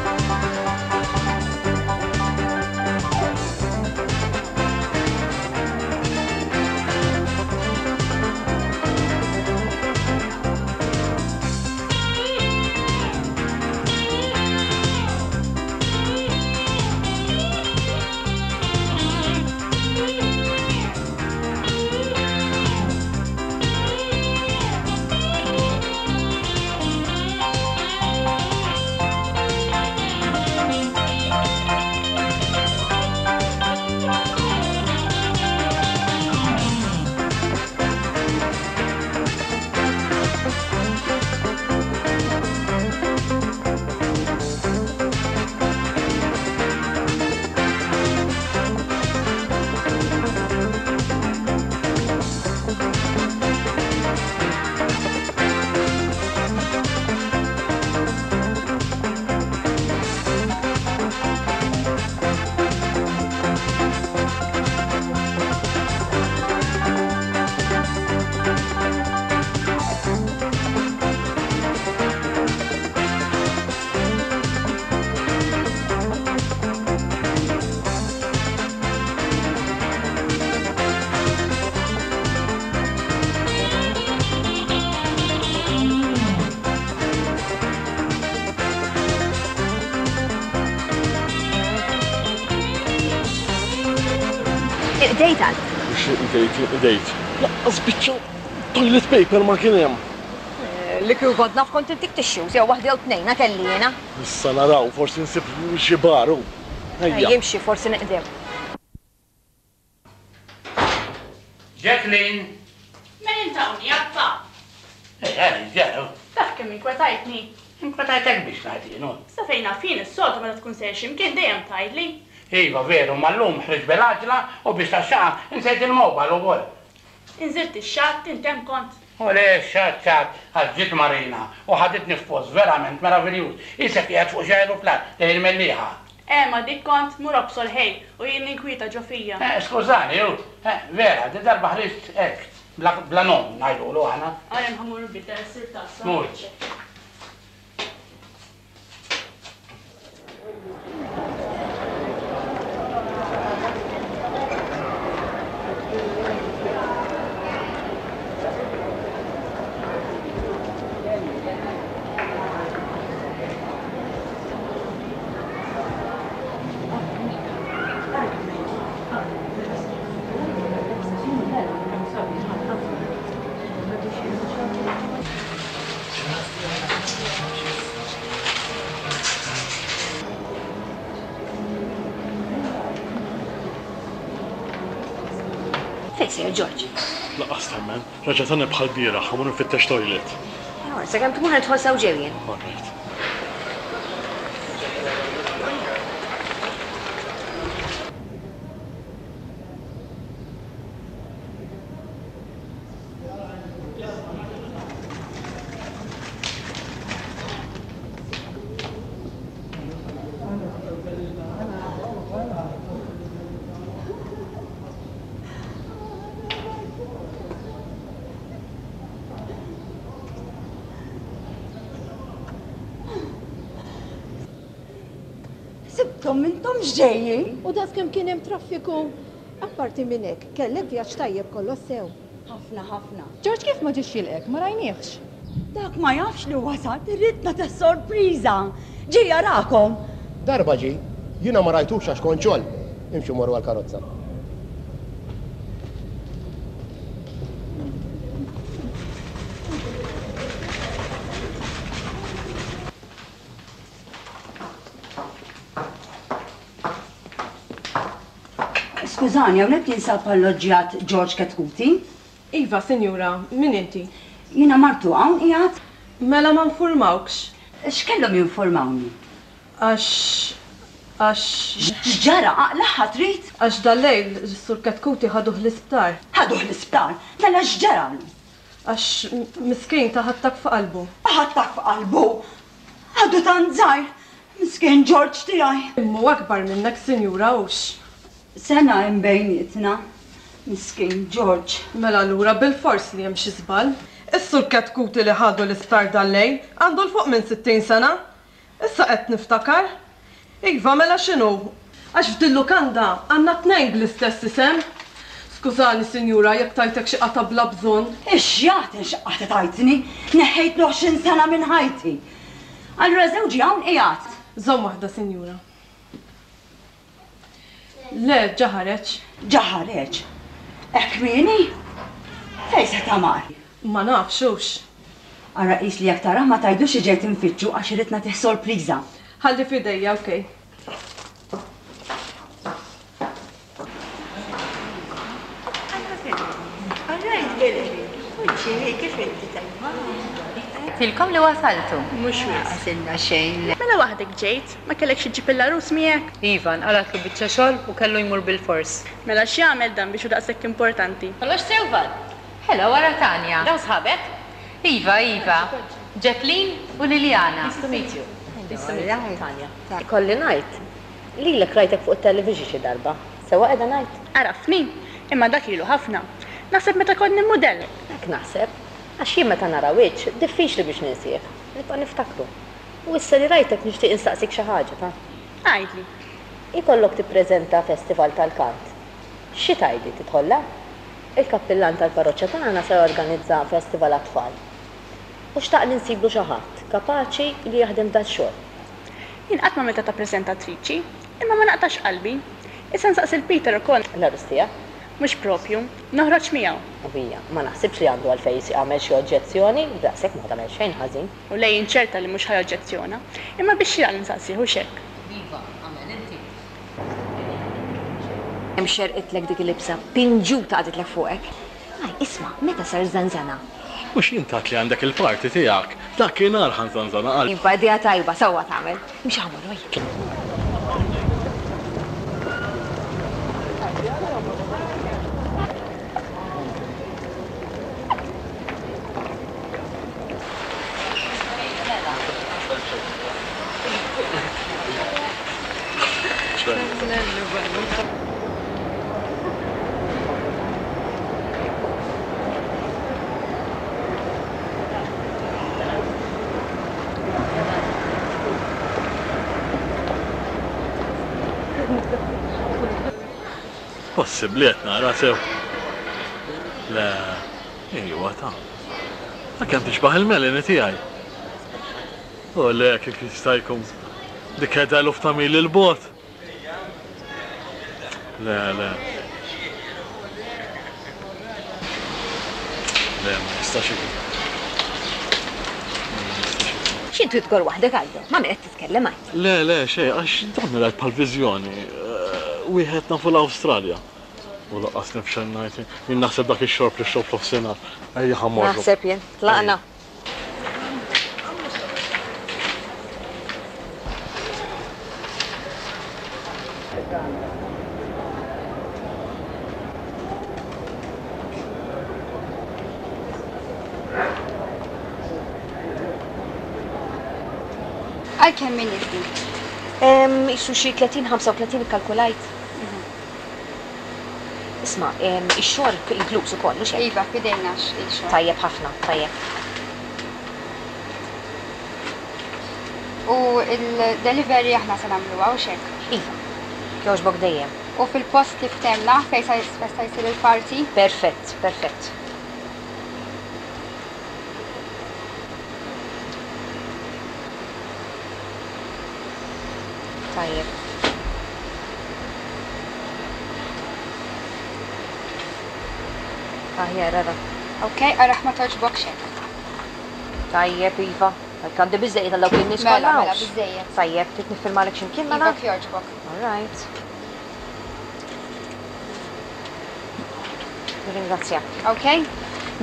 Iqdejt għal. Mhux inqdejt, inqdejt. Lanqas biċċa toilet paper ma kien hemm. Li kieku kont naf kont intik tissues jew waħda jew tnejna kelli jiena. Issa naraw, forsi nsib xi bar hu. Ejja. Jimxi, forsi neqdew. Jacqueline! Min int hawn, Jappa? Ej, għaliex ġara? Taf kemm inkwetajtni? Inkwetajtek biex ngħid jien, hu. Sa fejn naf jien is-soltu meta tkun sejjer xi mkien dejjem tgħidli. Iva, veru, imma llum ħriġt bil-għaġla u biex tax-xaqa insejt il-mobile ukoll. Inżilt ix-xatt, int hemm kont? U le, x-xatt xatt, għax ġiet Marina u ħaditni f'post verament meraviljuż, qisek qiegħed fuq xi ajruplan lejn il-Mellieħa. Eh, ma dik kont, mur obsor ħej, u jien ninkwieta ġo fija. Eh, skużani, hu, eh, vera, di darba ħriġt hekk, bla, bla nom ngħidulu aħna. Għarem ħa mmur nbiddel ssir tassa. Mur. Fejn sejjer George? Lanqas temmen, reġa' tani bħal bieraħ, ħa mmur infittex toilet. Sakemm tmur ħa nidħol sew ġew jien. All right. Sibthom m'intomx ġejjin. U daqs kemm kien hemm traffiku! Apparti minn hekk, kellek vjaġġ tajjeb kollox sew. Ħafna ħafna. Ġorġ kif ma ġiex jilqgħek? Ma rajniehx. Dak ma jafx li wasalt, irrid nagħtih sorpriża. Ġie jarakom. Darba ġie, jiena ma rajtux għax kont xogħol. Imxu morru għall-karozza. Skużani, hawnhekk jinsab alloġġjat George Ketkuti? Iva, sinjura, min inti? Jiena martu, hawn qiegħed? Mela ma nfurmawkx? X'kellhom jinfurmawni? Għax. Għax. X'ġara? Aqlagħha trid? Għax dal-lejl is-Sur Ketkuti ħaduh l-isptar. Ħaduh l-isptar? Mela x'ġaralu? Għax miskin ta attakk f'qalbu. Attakk f'qalbu? Għadu tant żgħir! Miskin Ġorġ tiegħi! Imma hu akbar minnek, sinjura, hux? Sena hemm bejnietna. Miskin Ġorġ. Mela allura bilfors li hemm xi żball. Is-Sur Ketkuti li ħadu l-isptar dal-lejl għandu 'l fuq minn 60 sena. Issa qed niftakar. Iva, mela x'inhu? Għax f'dil-lukanda għandna tnejn bl-istess isem. Skużani, sinjura, jekk tajtek xi qatgħa bla bżonn. Ix-xjaten x'qatgħa tajtni! Neħħejtlu 20 sena minn ħajti. Allura żewġi hawn qiegħed? Żomm waħda, sinjura. Le, ġa ħareġ. Ġa ħareġ? Hekk kmieni? Fejn seta' mar? Ma nafx, hux. Ara qis li jekk tarah ma tgħidlux li ġejt infittxu għax irrid nagħtih sorpriża. Ħalli f'idejja, ok. Tilkom li wasaltu. Mhux wisq. Għasilna xejn. Mela waħdek ġejt? Ma kellekx iġġib il-għarus miegħek? Iva, nqalgħatlu biċċa xogħol u kellu jmur bilfors. Mela x'jagħmel dan biex hu daqshekk importanti? Kollox sew, Val? Hello, ara Tanja. Dawn sħabek? Iva, iva. Jacqueline u Liliana. Nice to meet you. Nice to meet you, Tanja. Ikolli ngħid, lilek rajtek fuq it-television xi darba. Sewwa qiegħda ngħid? Għarafni? Imma dak ilu ħafna. Naħseb meta kont nimmudella. Hekk naħseb. Għax jien meta nara wiċċ, diffiċli biex ninsieh. Nibqa' niftakru. U issa li rajtek nixtieq insaqsik xi ħaġa, ta. Għidli. Ikollok tippreżenta festival tal-kant. Xi tgħidli, tidħollha? Il-kappillan tal-parroċċa tagħna se jorganizza festival għat-tfal. U xtaq li nsiblu xi ħadd kapaċi li jaħdem dax-xogħol. Jien qatt m'għamiltha ta' preżentatriċi, imma ma naqtax qalbi. Issa nsaqsi 'l Peter ukoll. L-għarus tiegħek? Mhux propju. Noħroġ miegħu. U hija, ma naħsibx li għandu għalfejn jagħmel xi oġġezzjoni, b'daqshekk ma tagħmel xejn ħażin. U le jien ċerta li mhux ħa joġġezzjona. Imma biex xieraq li nsaqsih, hux hekk? Iva, agħmel inti. Kemm xerqitlek dik il-libsa, pinġuta qagħditlek fuqek. Għaj, isma', meta sar żanżana? Mhux int għedt li għandek il-party tiegħek? Dakinhar ħa nżanżana għal. Iva, idea tajba, sewwa tagħmel. Imxi ħa mmorru, ejja. Possibbli qed nara sew? Le, iwa ta. Ta' kemm tixbah il-Melanie tiegħi. U le, kif jista' jkun? Dik qiegħda eluf ta' mili 'l bogħod. Le, le. Le, ma jistax ikun. Ma jistax ikun. X'intu tgorr waħdek Aldo? Ma' min qed titkellem għid? Le, le, xejn, għax dan rajt bħal viżjoni. Wieħed nafu l-Awstralja. U lanqas nifxel ngħid, jien naħseb dak ix-xorb li xrobt f'nofsinhar. Ejja ħa mmorru. Naħseb jien. Tlaqna. Għal kemm min nies din? Isu xi 30-35 ikkalkulajt. Isma', ix-xorb inkluż ukoll, hux hekk? Iva, f'idejna x-xorb. Tajjeb ħafna, tajjeb. U l-delivery aħna se nagħmluha, hux hekk? Iva. Jogħġbok dejjem. U fil-post li ftehmna fejn se jsir il-party? Perfett, perfett. Tajjeb. Aħjar, ara. Ok, araħ ma togħġbokx hekk. Tajjeb, iva. Hekk għandi biżżejjed għal dawk in-nies kollha. Mela, mela, biżżejjed. Tajjeb, trid niffirmalek xi mkien mela? Iva, jogħġbok. All right. Nirringrazzjak. Ok.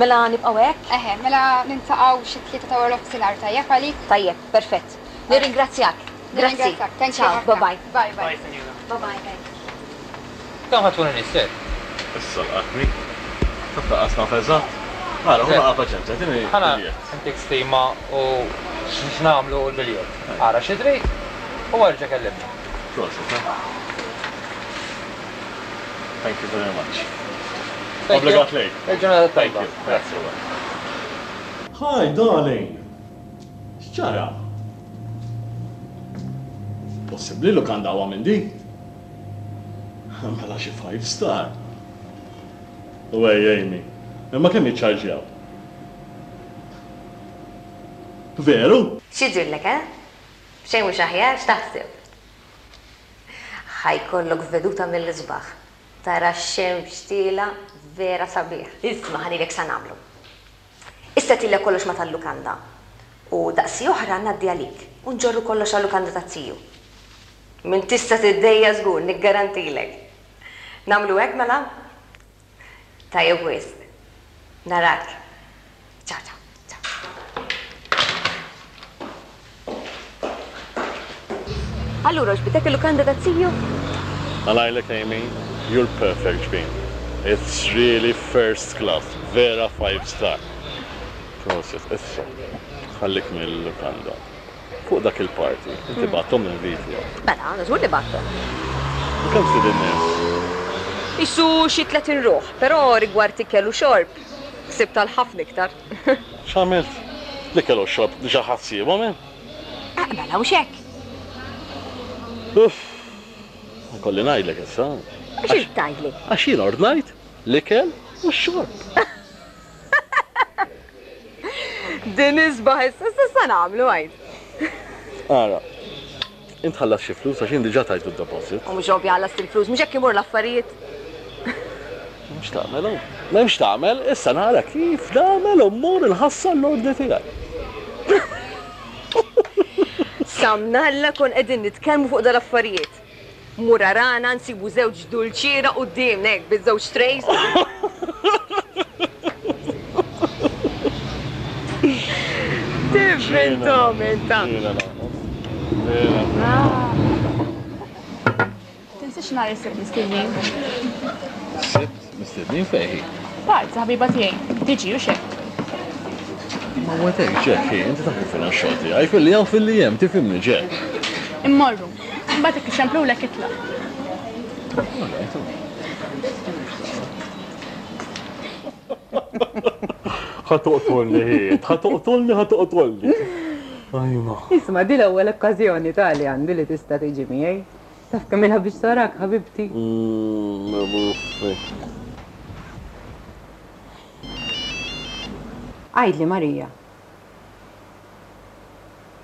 Mela nibqgħu hekk? Eħe, mela niltaqgħu xi tlieta ta' wara nofsinhar, tajjeb għalik? Tajjeb, perfett. Nirringrazzjak. Grazzi. Thank you. Ciao, bye bye. Bye bye. Bye, sinjura. Bye bye, thanks. Kemm ħa tkun in-nies, sir? Issa laqatni. Taf lanqas naf eżatt. Ara, ħu naqa' paċenzja, tini Ħa biljett. ntik stima u x'nagħmlu u l-biljett. Ara xi trid u erġa' kellimni. Prosit, eh. Thank you very much. Thank you. Obbligat lejk. Il-ġurnata t-tajba. Thank you. Grazzi. Hi, darling. X'ġara? Possibbli lukanda aqwa minn din? Mela xi five star. U ej Amy, imma kemm jiċċarġjaw? Veru? X'jidhirlek, eh? Xejn mhux aħjar, x'taħseb? Ħa jkollok veduta mill-isbaħ. Tara x-xemx tielgħa vera sabiħ. Isma' ħa ngħidlek x'sa nagħmlu. Issa tilja kollox ma' tal-lukanda. U daqsi oħra ngħaddi għalik u nġorru kollox għal-lukanda taz-ziju. M'int tista' tiddejjaq żgur, niggarantilek. Nagħmlu hekk mela? Tajjeb wisq. Narak. Ciao ciao. Ciao. Allura għoġbitek il-lukanda taz-ziju? Għalajlek Amy, you're perfect ġbin. It's really first class, vera five star. Prosit, issa, ħallik mill-lukanda. Fuq dak il-party, inti bgħatthom l-inviti? Mela, żgur li bgħatthom. U kemm stidin nies? Qisu xi 30 ruħ, però rigward ikel u xorb, ħsibt għal ħafna iktar. X'għamilt? L-ikel u x-xorb diġà ħadt ħsiebhom jien. Eh, mela hux hekk? Uff! Ikolli ngħidlek issa. Xi trid tgħidli? Għax jien ordnajt l-ikel u x-xorb. Din isbaħ issa, issa x'sa nagħmlu għid? Ara, int ħallast xi flus għax jien diġà tajtu d-deposit. U mhux ovvja ħallast il-flus, mhux hekk imur l-affarijiet. M'hemmx tagħmel hawn. M'hemmx tagħmel, issa nara kif nagħmel u mmur inħassar l-ordni tiegħi. Sa mnalla kon qegħdin nitkellmu fuq dal-affarijiet. Mur arana nsibu żewġ dulċiera quddiemna hekk biż-żewġ trays. Tivvintom inta. Tinsiex nhar is-Sibt mistednin. Is-Sibt mistednin fejn hi? Party ta' ħabiba tiegħi. Tiġi hux hekk? Ma wegħdek Jack, hi, inti taf kif inhu x-xogħol tiegħi, filli hawn filli hemm, tifhimni Jack. Immorru. Imbagħad jekk ixemplulek itlaq. All right, all right. Ħa toqtolni hi, ħa toqtolni, ħa toqtolni. Ajma. Isma' di l-ewwel okkażjoni ta' li għandi li tista' tiġi miegħi. Taf kemm ilha biex tarak, ħabibti? Muffi. Għidli, Marija.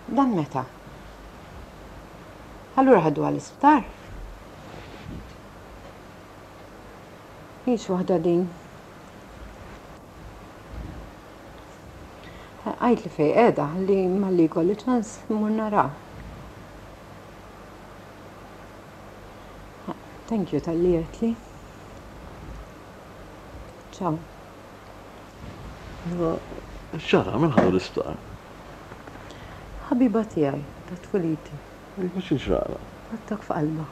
Dan meta? Allura ħaduha l-isptar? Hix waħda din. Għidli fejn qiegħda ħalli malli jkolli ċans immur naraha. Thank you talli għedtli. Ciao. X'ġara? Min ħadu l-isptar? Ħabiba tiegħi ta' tfuliti. Iva xi ġralha? Attakk f'qalbha.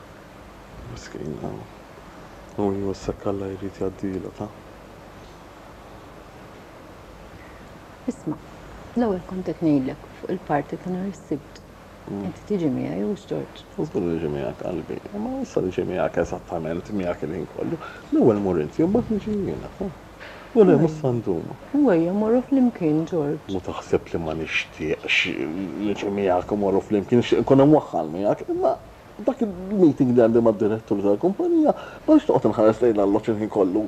Miskina. U iva issa Alla jrid jgħaddilha ta. Isma', l-ewwel kont qed ngħidlek fuq il-party ta' nhar is-Sibt. Inti tiġi miegħi hux Ġorġ? Żgur li niġi miegħek qalbi. Imma issa niġi miegħek eżattament miegħek il-ħin kollu. L-ewwel mur inti u mbagħad niġi jiena, ta? U le mhux sa ndum. U ejja mmorru flimkien Ġorġ. U taħseb li ma nixtieqx niġi miegħek u mmorru flimkien, nixtieq inkun imwaħħal miegħek, imma dak il-meeting li għandi mad-direttur tal-kumpanija ma rridx noqgħod inħares lejn l-alloġġ il-ħin kollu.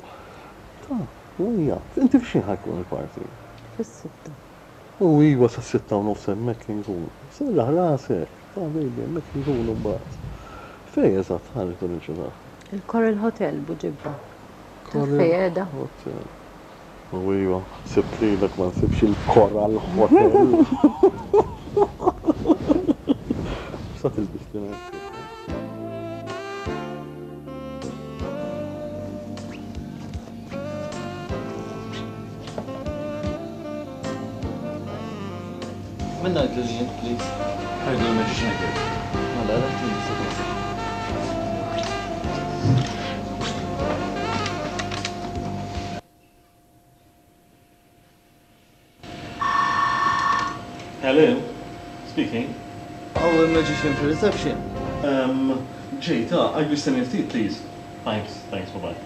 Ta, u ejja. Inti f'x'ħin ħa jkun il-party? Fis-sitta. U iva sas-sitta u nofs hemmhekk inkun. Serraħ rasek, ta' baby hemmhekk inkunu mbagħad. Fejn eżatt ħa rridu niġu ta'? Il-Coral Hotel, Buġibba. Taf fejn qiegħda? Hotel. U iva, ħsibt lilek ma nsibx il-Coral Hotel. X'sa tilbisli nhar is-Sibt? Min ngħidlu li jien, please? Għidlu l-Magician Girl. Mela, dak li nista' Hello, speaking. Hawn il-magician fir-reception. Um, ġejt, ah, għidli stenni ftit, please. Thanks, thanks, bye bye.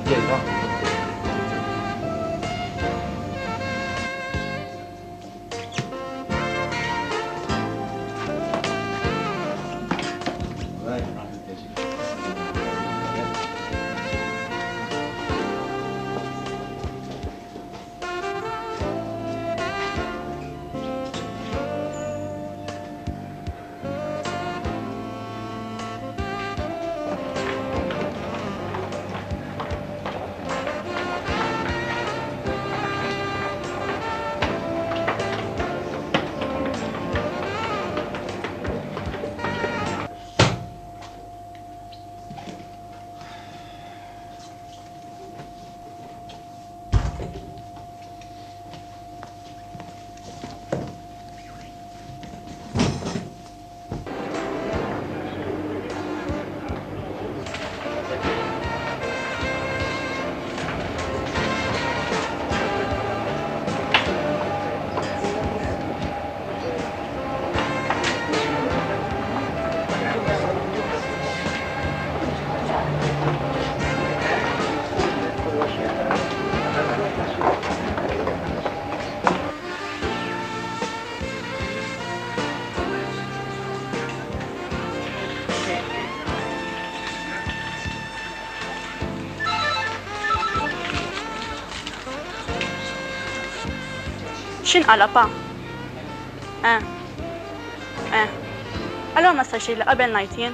Ġejt, ah. X'inqala' pa? Eh. Eh. Allura ma stajtx tgħidli qabel ngħid jien.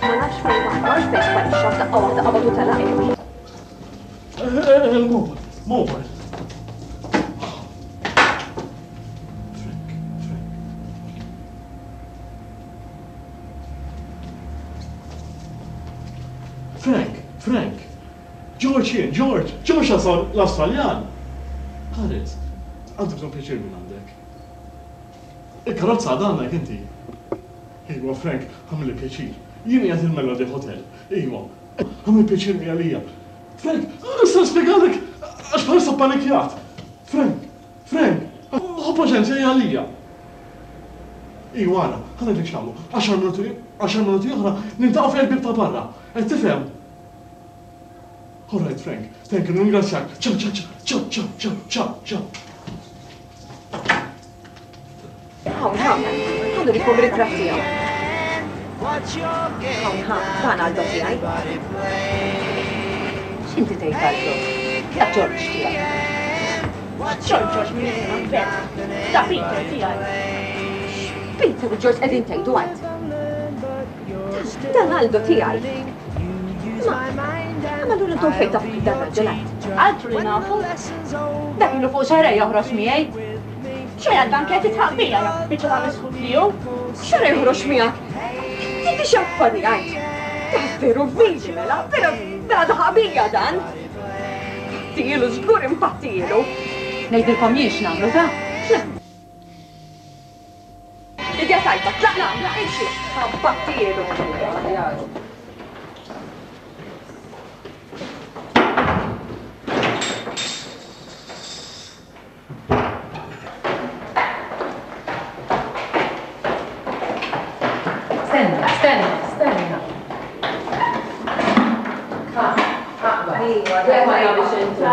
Ma nafx fejn mar, ma nafx fejn sparixxa f'daqqa waħda qabad u telaq. Il-mobile, mobile. Frank, Frank, George jien, George, George l-Awstraljan. Ħares, għandi bżonn pjaċir minn għandek. Il-karozza għadha għandek inti. Iwa, Frank, għamilli pjaċir. Jien qiegħed il-Melody Hotel. Iwa, għamilli pjaċir mi għalija. Frank, nista' nispjegalek għax bħalissa ppanikjat. Frank, Frank, ħu paċenzja hija għalija. Iwa ara, ħa ngħidlek x'nagħmlu. Għaxar minuti, għaxar minuti oħra niltaqgħu fejn il-bieb ta' barra. Qed tifhem? All right, Frank, thank you, nirringrazzjak. Ciao, ciao, ciao, ciao, ciao, ciao, ciao. Hawn, hawn, ħa nurikom ritratt tiegħu. Hawn, ha, dan Aldo tiegħi. X'inti tgħid Aldo? Da Ġorġ tiegħi. Ġorġ Ġorġ min jisimha Bet. Da Peter tiegħi. Peter u Ġorġ qegħdin tgħidu għad. Dan Aldo tiegħi. Ma, ma allura intom fejn tafu kif dan raġel għad? Altru li nafu. Dak ilu fuq xahrejn joħroġ miegħi. Xejn għal-banket titħaq bija, ja biċċa ta' misħut li hu. Xara joħroġ miegħek? Inti x'affari għid? Ta' veru vili mela, vera vera daħaq bija dan. Pattilu, żgur impattilu. Ngħidilkom jien x'nagħmlu ta'? Idea tajba, tlaqna, imxi, pattilu. Stenna, stenna, stenna. Ha, aqbad. Iva, ma biex intu.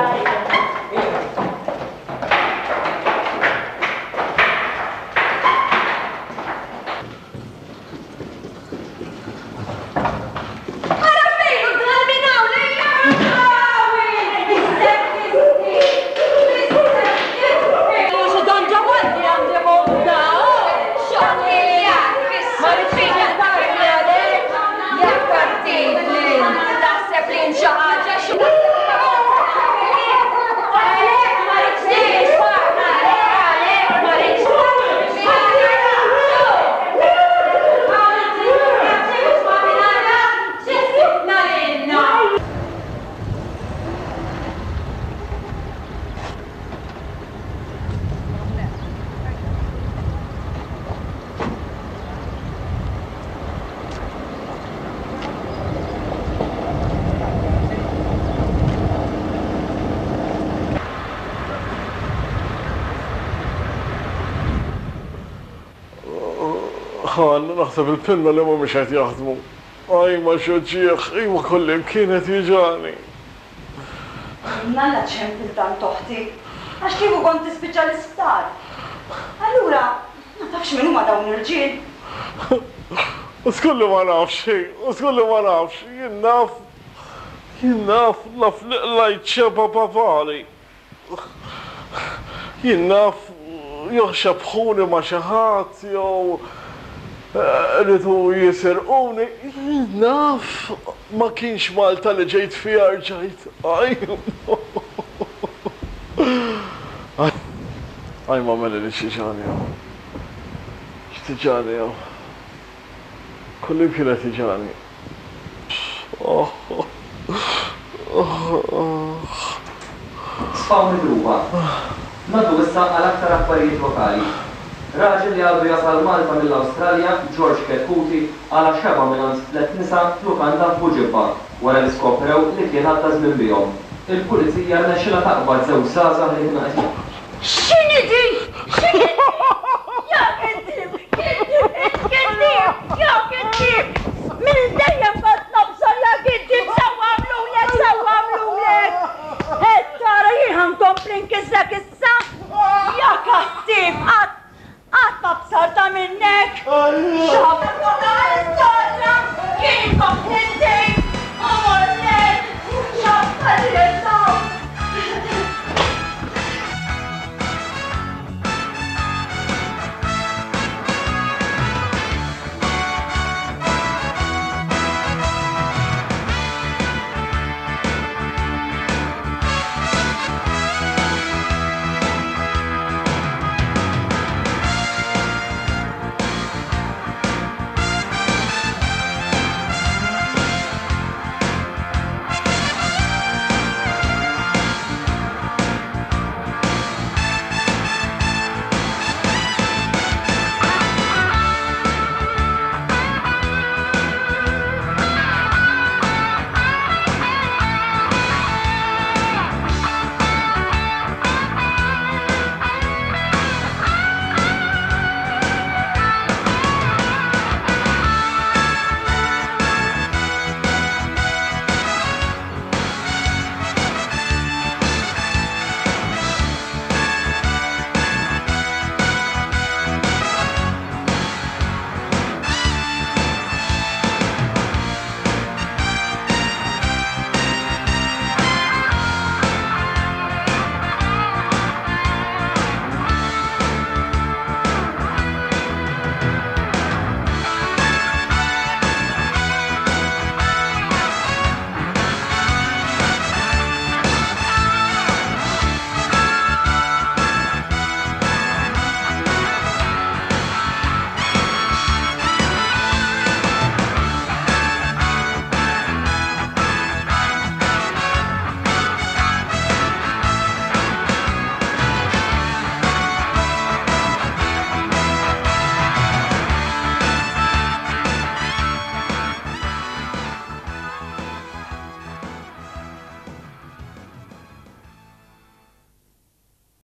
Ħa, naħseb il-pinnoli mhumiex qed jaħdmu. Ajma x'uġigħ, iwa kullimkien qed juġagħni. Mnalla ċempil tant oħti, għax kieku kont tispiċċa l-isptar. Allura, ma tafx min huma dawn l-irġiel? U żgur li ma nafx, hi, u żgur li ma nafx. Jien naf, jien naf, naf li qlajt xebgħa papali. Jien naf jew xebbħuni ma' xi ħadd jew riedu jisirquni. Jien naf ma kienx Malta li ġejt fiha rġajt. Aj ma Melanie x'tiġani hawn. X'tiġani hawn. Kullimkien qed jiġani. Sfaw midruba. Ngħaddu issa għal aktar aħbarijiet lokali. Raġel li għadu jasal Malta mill-Awstralja, George Chetcuti, qala' xebgħa mingħand tlett nisa f'lukanda f'Buġibba wara li skoprew li kien għadda żmien bihom. Il-Pulizija rnexxilha taqbad żewġ żgħażagħ li kienu qed Xi?